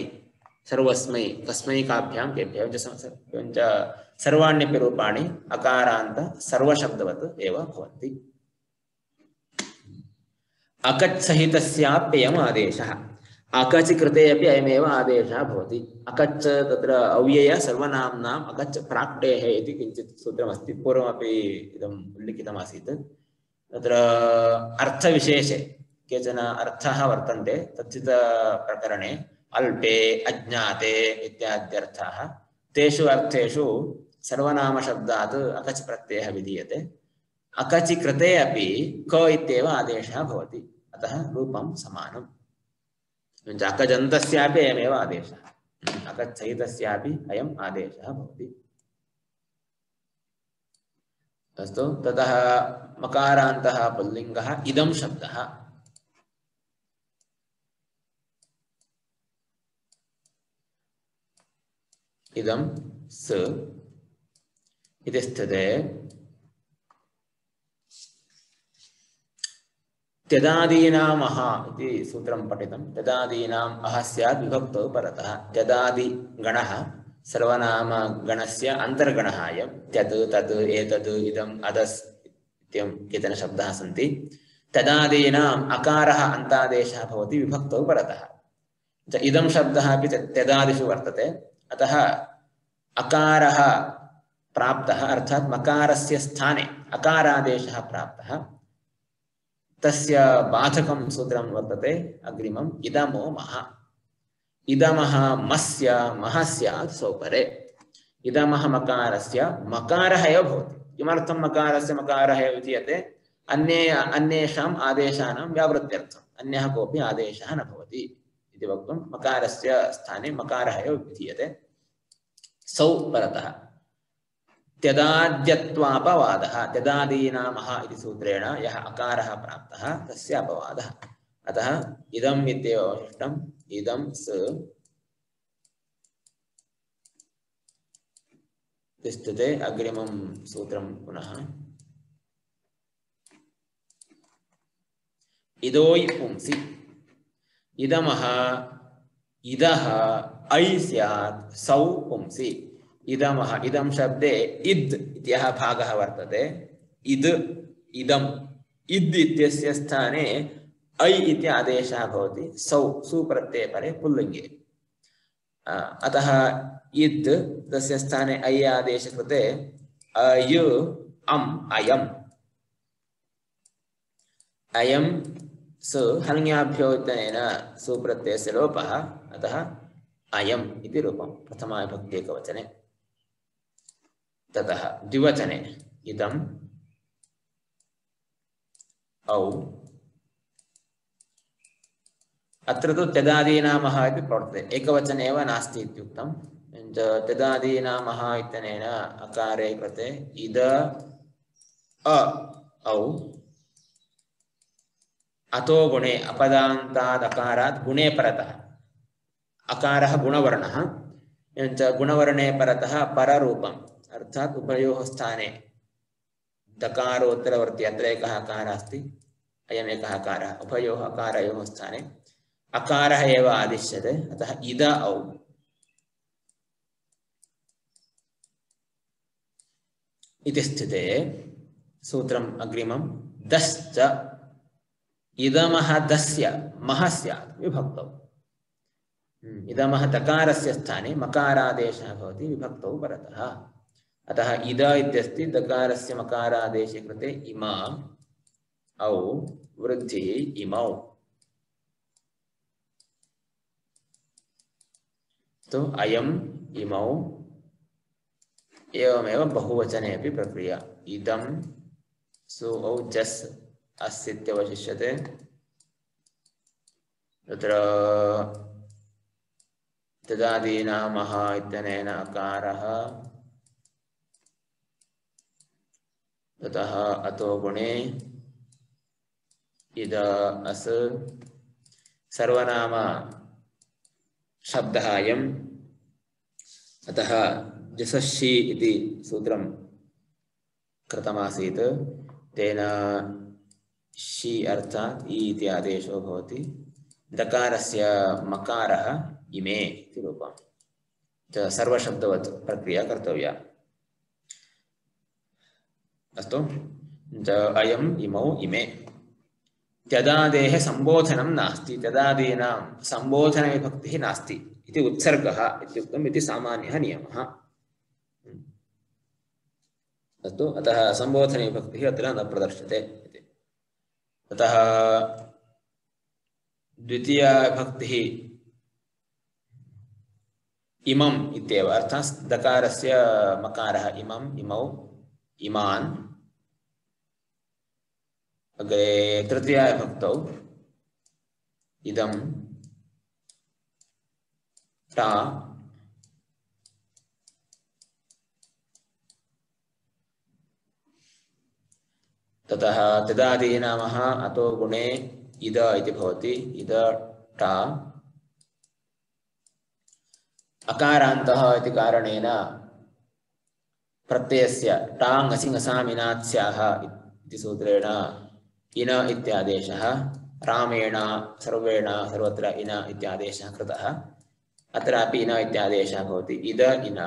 सर्वस्मै कस्मै काभ्यां केभ्यः सर्वाण्यपि रूपाणि अकारान्त सर्वशब्दवत् एव भवन्ति। अकच् सहितस्याप्ययम् आदेशः अकच् कृते अपि अयमेव आदेशः भवति। अकच् तत्र अव्यय सर्वनाम्नाम् अकच् प्राक्टेः इति किञ्चित् सूत्रमस्ति। पूर्वमपि इदम् उल्लिखितमासीत्। तत्र अर्थविशेषे केचन अर्थाः वर्तन्ते। तच्चित् प्रकरणे अल्पे अज्ञाते इत्याद्यर्थाः तेषु अर्थेषु सर्वनामशब्दात् अकच् प्रत्ययः विधीयते। अकचि कृते अपि क इत्येव आदेशः भवति। अतः रूपं समानम्। अकजन्तस्यापि अयमेव आदेशः अकच् सहितस्यापि अयम् आदेशः भवति। अस्तु ततः मकारान्तः पुल्लिङ्गः इदं शब्दः। इदं स इति स्थिते त्यदादीनाम् अह इति सूत्रं पठितं। त्यदादीनाम् अह स्यात् विभक्तौ परतः। त्यदादि गणः सर्वनाम गणस्य अन्तर्गणः अयं। त्यत् तत् एतत् इदम् अदस् इत्यं केचन शब्दाः सन्ति। त्यदादीनाम् अकारः अन्तादेशः भवति विभक्तौ परतः। इदं शब्दः अपि त्यदादिषु वर्तते। अतः अकारः प्राप्तः अर्थात् मकारस्य स्थाने अकारादेशः प्राप्तः। तस्य बाधकं सूत्रं वर्तते अग्रिमम् इदमो मह। इदमः मस्य मह स्यात् सौपरे। इदमः मकारस्य मकारः एव भवति। किमर्थं मकारस्य मकारः एव विधीयते? अन्ये अन्येषाम् आदेशानां व्यावृत्त्यर्थम्। अन्यः कोऽपि आदेशः न भवति इति वक्तुं मकारस्य स्थाने मकारः एव विधीयते। सौ परतः त्यदाद्यत्वापवादः। त्यदादीनाम् अह इति सूत्रेण यः अकारः प्राप्तः तस्य अपवादः। अतः इदम् इत्येव अवशिष्टम्। इदं स तिष्ठते अग्रिमं सूत्रं पुनः इदोयि पुंसि इदमः इदः ऐ स्यात् सौ पुंसि इदमः इदं शब्दे इद् इत्यः भागः वर्तते इद् इदम् इद् इत्यस्य स्थाने ऐ इति आदेशः भवति सौ सुप्रत्यये परे पुल्लिङ्गे अतः इद् तस्य स्थाने ऐ आदेश कृते अयु अम् अयम् अयं सु हल्ङ्याभ्यो इत्यनेन सुप्रत्ययस्य लोपः अतः अयम् इति रूपं प्रथमाविभक्ति एकवचने ततः द्विवचने इदम् औ अत्र तु त्यदादीनामः इति प्रवर्तते एकवचने एव नास्ति इत्युक्तं त्यदादीनामः इत्यनेन अकारे कृते इद अ औ अतो गुणे अपदान्ताद् अकारात् गुणे परतः अकारः गुणवर्णः एवञ्च गुणवर्णे परतः पररूपम् अर्थात् उभयोः स्थाने दकारोत्तरवर्ती अत्र एकः अकारः अस्ति अयम् एकः अकारः उभयोः अकारयोः स्थाने अकारः एव आदिश्यते अतः इद औ इति स्थिते सूत्रम् अग्रिमं दश्च इदमः दस्य मह स्यात् विभक्तौ इदमः दकारस्य स्थाने मकारादेशः भवति विभक्तौ परतः अतः इद इत्यस्ति दकारस्य मकारादेशे कृते इमा औ वृद्धिः इमौ तो अयम् इमौ एवमेव बहुवचने अपि प्रक्रिया इदं सु औ जस् अस्यत्यवशिष्यते तत्र तदादीनामः इत्यनेन अकारः ततः अतो गुणे इद अस् सर्वनाम शब्दः अयम् अतः जसषि इति सूत्रं कृतमासीत् तेन षि अर्थात् इ इति आदेशो भवति दकारस्य मकारः इमे इति रूपं सर्वशब्दवत् प्रक्रिया कर्तव्या अस्तु अयम् इमौ इमे त्यदादेः संबोधनं नास्ति त्यदादीनां संबोधनविभक्तिः नास्ति इति उत्सर्गः इत्युक्तम् इति सामान्यः नियमः अस्तु अतः संबोधनविभक्तिः अत्र न प्रदर्श्यते इति अतः द्वितीया विभक्तिः इमम् इत्येव अर्थात् दकारस्य मकारः इमम् इमौ इमान् अग्रे तृतीया विभक्तौ इदं टा ततः तदादीनामः अतो गुणे इद इति भवति इद टा अकारान्तः इति कारणेन प्रत्ययस्य टाङ् असि ङसामिनात् स्याः इति सूत्रेण इन इत्यादेशः रामेण सर्वेण सर्वत्र इन इत्यादेशः कृतः अत्रापि इन इत्यादेशः भवति इद इन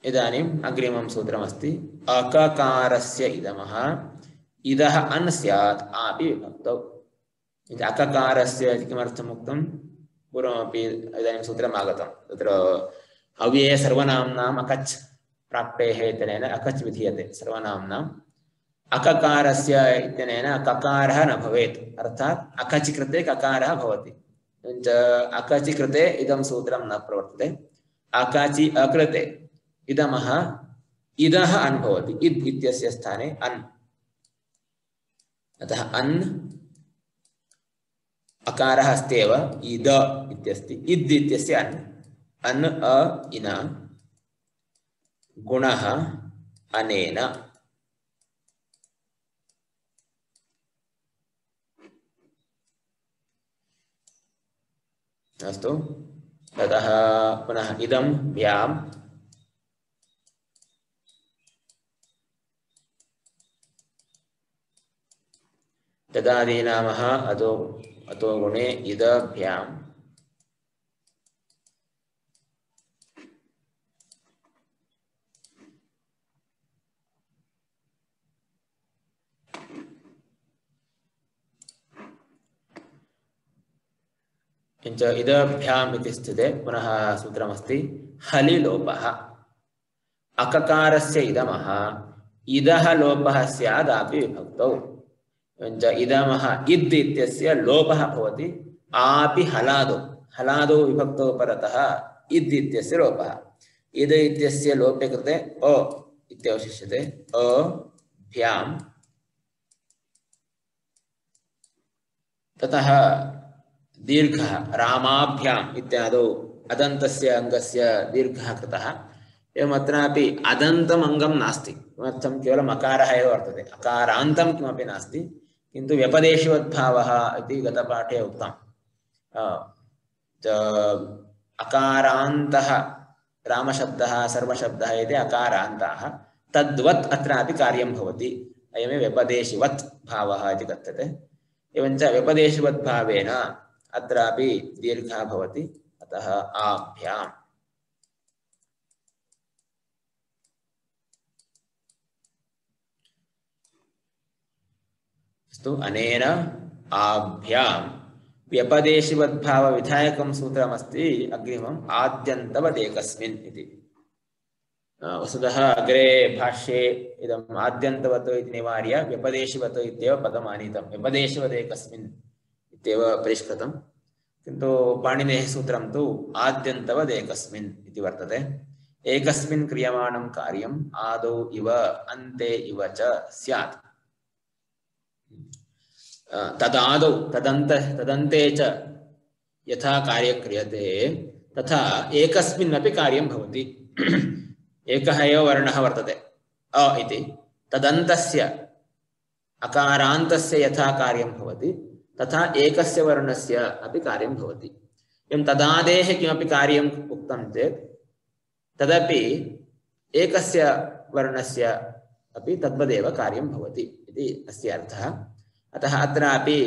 इदानीम् अग्रिमं सूत्रमस्ति अककारस्य इदमः इदः अन् स्यात् आपि विभक्तौ अककारस्य इति किमर्थम् उक्तं पूर्वमपि इदानीं सूत्रम् आगतं तत्र अव्यये सर्वनाम्नाम् अकच् प्राक्तेः इत्यनेन अकच् विधीयते सर्वनाम्नाम् अककारस्य इत्यनेन ककारः न भवेत् अर्थात् अकचि कृते ककारः भवति एवञ्च अकचि कृते इदं सूत्रं न प्रवर्तते अकाचि अकृते इदमः इदः अन् भवति इद् इत्यस्य स्थाने अन् अतः अन् अकारः अस्ति एव इद इत्यस्ति इद् इत्यस्य अन् अन् अ इन गुणः अनेन अस्तु ततः पुनः इदं भ्याम् तदादीनामः अतो अतो गुणे इदभ्याम् किञ्च इदभ्याम् इति स्थिते पुनः सूत्रमस्ति हलि लोपः अककारस्य इदमः इदः लोपः स्यादापि विभक्तौ किञ्च इदमः इद् इत्यस्य लोपः भवति आपि हलादौ हलादौ विभक्तौ परतः इद् इत्यस्य लोपः इद इत्यस्य लोपे कृते अ इत्यवशिष्यते अ भ्याम् ततः दीर्घः रामाभ्याम् इत्यादौ अदन्तस्य अङ्गस्य दीर्घः कृतः एवम् अत्रापि अदन्तम् अङ्गं नास्ति किमर्थं केवलम् अकारः एव वर्तते अकारान्तं किमपि नास्ति किन्तु व्यपदेशवद्भावः इति गतपाठे उक्तम् अकारान्तः रामशब्दः सर्वशब्दः इति अकारान्ताः तद्वत् अत्रापि कार्यं भवति अयमेव व्यपदेशवत् भावः इति कथ्यते एवञ्च व्यपदेशवद्भावेन अत्रापि दीर्घः भवति अतः आभ्याम् अस्तु अनेन आभ्याम् व्यपदेशवद्भावविधायकं सूत्रमस्ति अग्रिमम् आद्यन्तवदेकस्मिन् इति वस्तुतः अग्रे भाष्ये इदम् आद्यन्तवत् इति निवार्य व्यपदेशवत् इत्येव पदम् आनीतं व्यपदेशवदेकस्मिन् इत्येव परिष्कृतं किन्तु पाणिनेः सूत्रं तु आद्यन्तवदेकस्मिन् इति वर्तते एकस्मिन् क्रियमाणं कार्यम् आदौ इव अन्ते इव च स्यात् तदादौ तदन्त तदन्ते च यथा कार्यं क्रियते तथा एकस्मिन्नपि कार्यं भवति एकः एव वर्णः वर्तते अ इति तदन्तस्य अकारान्तस्य यथा कार्यं भवति तथा एकस्य वर्णस्य अपि कार्यं भवति एवं तदादेः किमपि कार्यम् उक्तं चेत् तदपि एकस्य वर्णस्य अपि तद्वदेव कार्यं भवति इति अस्य अर्थः अतः अत्रापि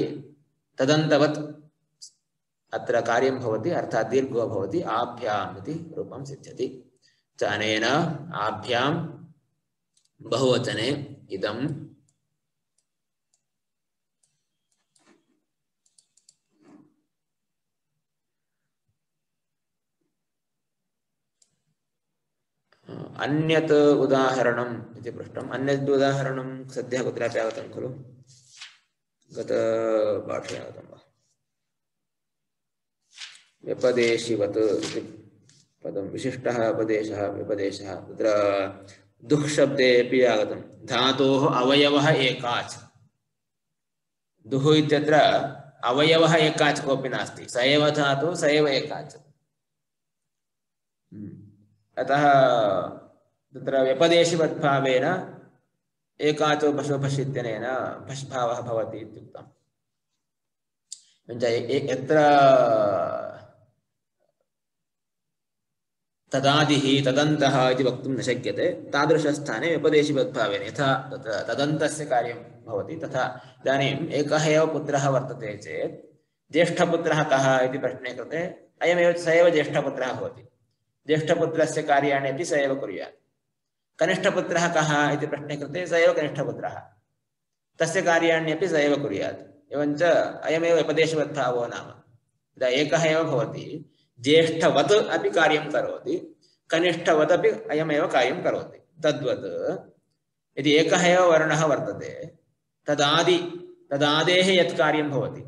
तदन्तवत् अत्र कार्यं भवति अर्थात् दीर्घो भवति आभ्याम् इति रूपं सिद्ध्यति च अनेन आभ्यां बहुवचने इदं अन्यत् उदाहरणम् इति पृष्टम् अन्यत् उदाहरणं सद्यः कुत्रापि आगतं खलु गतपाठे आगतं वा व्यपदेशिवत् इति पदं विशिष्टः उपदेशः व्यपदेशः तत्र दुः शब्देपि आगतं धातोः अवयवः एकाच् दुः इत्यत्र अवयवः एकाच् कोऽपि नास्ति स एव धातुः स एव एकाच् अतः तत्र व्यपदेशवद्भावेन एकाचो पशु पश्यत्यनेन पश् भावः भवति इत्युक्तम् यत्र तदादिः तदन्तः इति वक्तुं न शक्यते तादृशस्थाने व्यपदेशवद्भावेन यथा तत्र तदन्तस्य कार्यं भवति तथा इदानीम् एकः एव पुत्रः वर्तते चेत् ज्येष्ठपुत्रः कः इति प्रश्ने कृते अयमेव स एव ज्येष्ठपुत्रः भवति ज्येष्ठपुत्रस्य कार्याणि अपि स एव कुर्यात् कनिष्ठपुत्रः कः इति प्रश्ने कृते स एव कनिष्ठपुत्रः तस्य कार्याण्यपि स एव कुर्यात् एवञ्च अयमेव व्यपदेशवद्भावो नाम यदा एकः एव भवति ज्येष्ठवत् अपि कार्यं करोति कनिष्ठवत् अपि अयमेव कार्यं करोति तद्वत् यदि एकः एव वर्णः वर्तते तदादि तदादेः यत् कार्यं भवति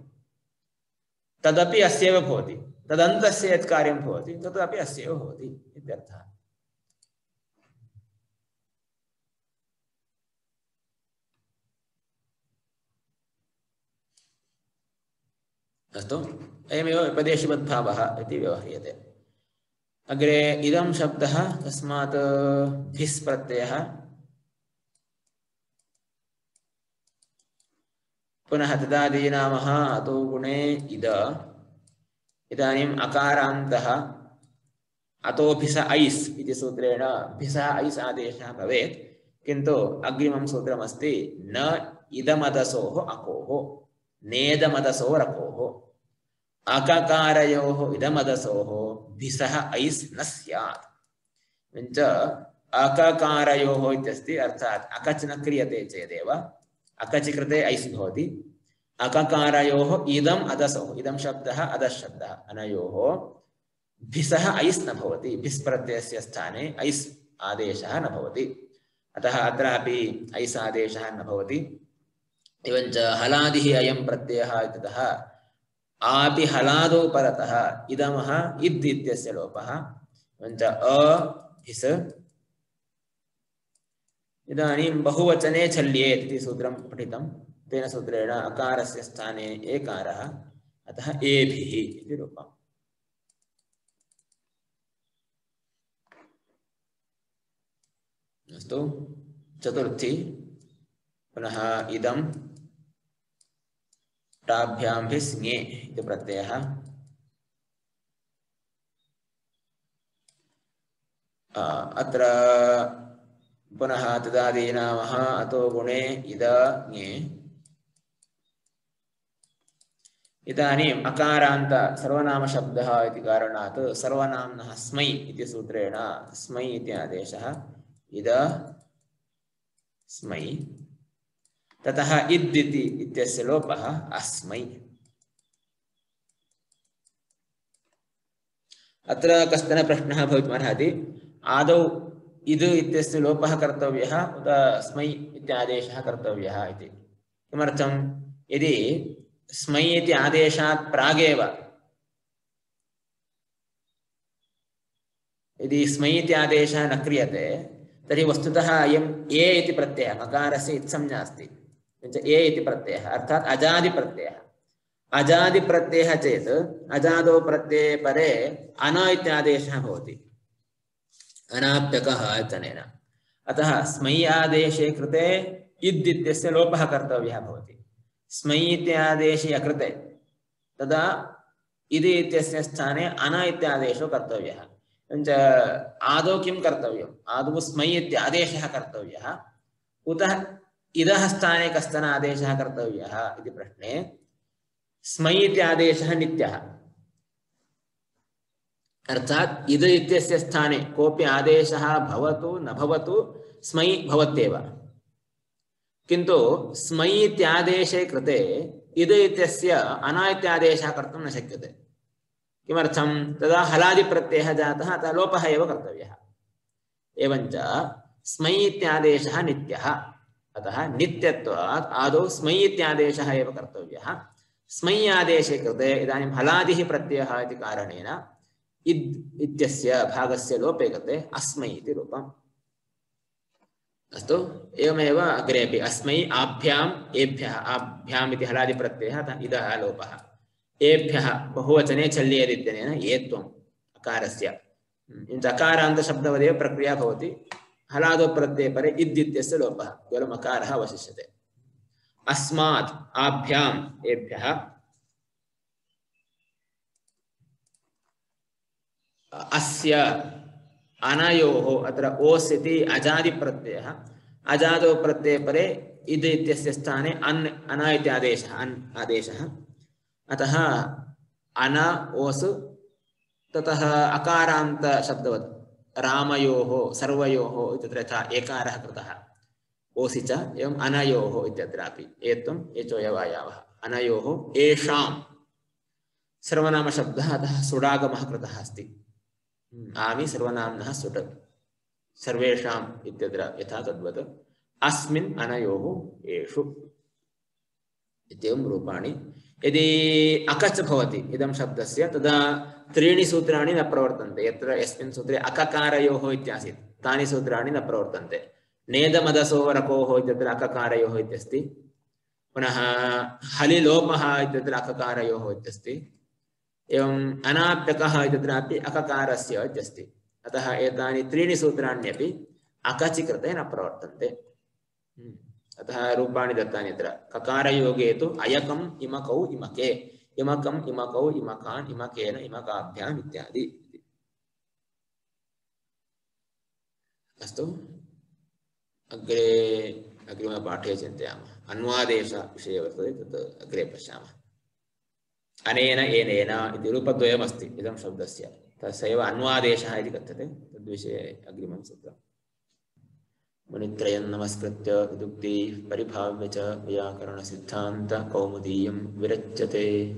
तदपि अस्यैव भवति तदन्तस्य यत् कार्यं भवति तदपि अस्यैव भवति इत्यर्थः अस्तु अयमेव व्यपदेशवद्भावः इति व्यवह्रियते अग्रे इदं शब्दः तस्मात् भिस् प्रत्ययः पुनः तदादीनामः अतो गुणे इद इदानीम् अकारान्तः अतो भिस ऐस् इति सूत्रेण भिस ऐस् आदेशः भवेत् किन्तु अग्रिमं सूत्रमस्ति न इदमदसोः अकोः नेदमदसोः रकोः अककारयोः इदमदसोः भिसः ऐस् न स्यात् एवञ्च अककारयोः इत्यस्ति अर्थात् अकच् न क्रियते चेदेव अकचि कृते ऐस् भवति अककारयोः इदम् अदसोः इदं शब्दः अदस् शब्दः अनयोः भिसः ऐस् न भवति भिस् प्रत्ययस्य स्थाने ऐस् आदेशः न भवति अतः अत्रापि ऐस् आदेशः न भवति एवञ्च हलादिः अयं प्रत्ययः इत्यतः आपि हलादौ परतः इदमः इद् इत्यस्य लोपः एवञ्च अ भिस् इदानीं बहुवचने छल्येत् इति सूत्रं पठितं तेन सूत्रेण अकारस्य स्थाने एकारः अतः एभिः इति रूपम् अस्तु चतुर्थी पुनः इदं टाभ्यां भिस्ङे इति प्रत्ययः अत्र पुनः तदादीनामः अतो गुणे इद ङे इदानीम् अकारान्त सर्वनाम शब्दः इति कारणात् सर्वनाम्नः स्मै इति सूत्रेण स्मै इति आदेशः इद स्मै ततः इद् इति इत्यस्य लोपः अस्मै अत्र कश्चन प्रश्नः भवितुमर्हति आदौ इद् इत्यस्य लोपः कर्तव्यः उत स्मै इत्यादेशः कर्तव्यः इति किमर्थं यदि स्मै इति आदेशात् प्रागेव यदि स्मै इति आदेशः न क्रियते तर्हि वस्तुतः अयम् ए इति प्रत्ययः मकारस्य इत्संज्ञा अस्ति ए इति प्रत्ययः अर्थात् अजादि प्रत्ययः अजादि प्रत्ययः चेत् अजादौ प्रत्यये परे अन इत्यादेशः भवति अनाप्यकः इत्यनेन अतः स्मै आदेशे कृते इद् इत्यस्य लोपः कर्तव्यः भवति स्मै इत्यादेशे अकृते तदा इद् इत्यस्य स्थाने अन इत्यादेशो कर्तव्यः एवञ्च आदौ किं कर्तव्यम् आदौ स्मै इत्यादेशः कर्तव्यः उत इदः स्थाने कश्चन आदेशः कर्तव्यः इति प्रश्ने स्मै इत्यादेशः नित्यः अर्थात् इद् इत्यस्य स्थाने कोऽपि आदेशः भवतु न भवतु स्मै भवत्येव किन्तु स्मै इत्यादेशे कृते इद् इत्यस्य अन इत्यादेशः कर्तुं न शक्यते किमर्थं तदा हलादि प्रत्ययः जातः अतः लोपः एव कर्तव्यः एवञ्च स्मै इत्यादेशः नित्यः अतः नित्यत्वात् आदौ स्मै इत्यादेशः एव कर्तव्यः स्मै आदेशे कृते इदानीं हलादिः प्रत्ययः इति कारणेन इद् इत्यस्य भागस्य लोपे कृते अस्मै इति रूपम् अस्तु एवमेव अग्रेपि अस्मै आभ्याम् एभ्यः आभ्याम् इति हलादि प्रत्ययः इदः लोपः एभ्यः बहुवचने छल्येदित्यनेन एत्वम् अकारस्य अकारान्तशब्दवदेव प्रक्रिया भवति हलादौ प्रत्यये परे इद् इत्यस्य लोपः केवलम् अकारः अवशिष्यते अस्मात् आभ्याम् एभ्यः अस्य अनयोः अत्र ओस् इति अजादि प्रत्ययः अजादौ प्रत्यये परे इद् इत्यस्य स्थाने अन् अन इति आदेशः अन् आदेशः अतः अन ओस् ततः अकारान्त शब्दवत् रामयोः सर्वयोः इत्यत्र यथा एकारः कृतः ओसि च एवम् अनयोः इत्यत्रापि एत्वम् एचोयवायावः अनयोः येषां सर्वनामशब्दः अतः सुडागमः कृतः अस्ति आमि सर्वनाम्नः सुट् सर्वेषाम् इत्यत्र यथा तद्वत् अस्मिन् अनयोः येषु इत्येवं रूपाणि यदि अकच् भवति इदं शब्दस्य तदा त्रीणि सूत्राणि न प्रवर्तन्ते यत्र यस्मिन् सूत्रे अककारयोः इत्यासीत् तानि सूत्राणि न प्रवर्तन्ते नेदमदसोः रकोः इत्यत्र अककारयोः इत्यस्ति पुनः हलिलोपः इत्यत्र अककारयोः इत्यस्ति एवम् अनाप्यकः इत्यत्रापि अककारस्य इत्यस्ति अतः एतानि त्रीणि सूत्राण्यपि अकचि कृते न प्रवर्तन्ते अतः रूपाणि दत्तानि अत्र ककारयोगे तु अयकम् इमकौ इमके इमकम् इमकौ इमकान् इमकेन इमकाभ्याम् इत्यादि अस्तु अग्रे अग्रिमपाठे चिन्तयामः। अन्वादेशविषये वर्तते, तत् अग्रे पश्यामः। अनेन एनेन इति रूपद्वयमस्ति इदं शब्दस्य, तस्यैव अन्वादेशः इति कथ्यते। तद्विषये अग्रिमं सूत्रम्। मुनित्रयं नमस्कृत्य विदुक्ति परिभाव्य च व्याकरणसिद्धान्त कौमुदीयं विरच्यते।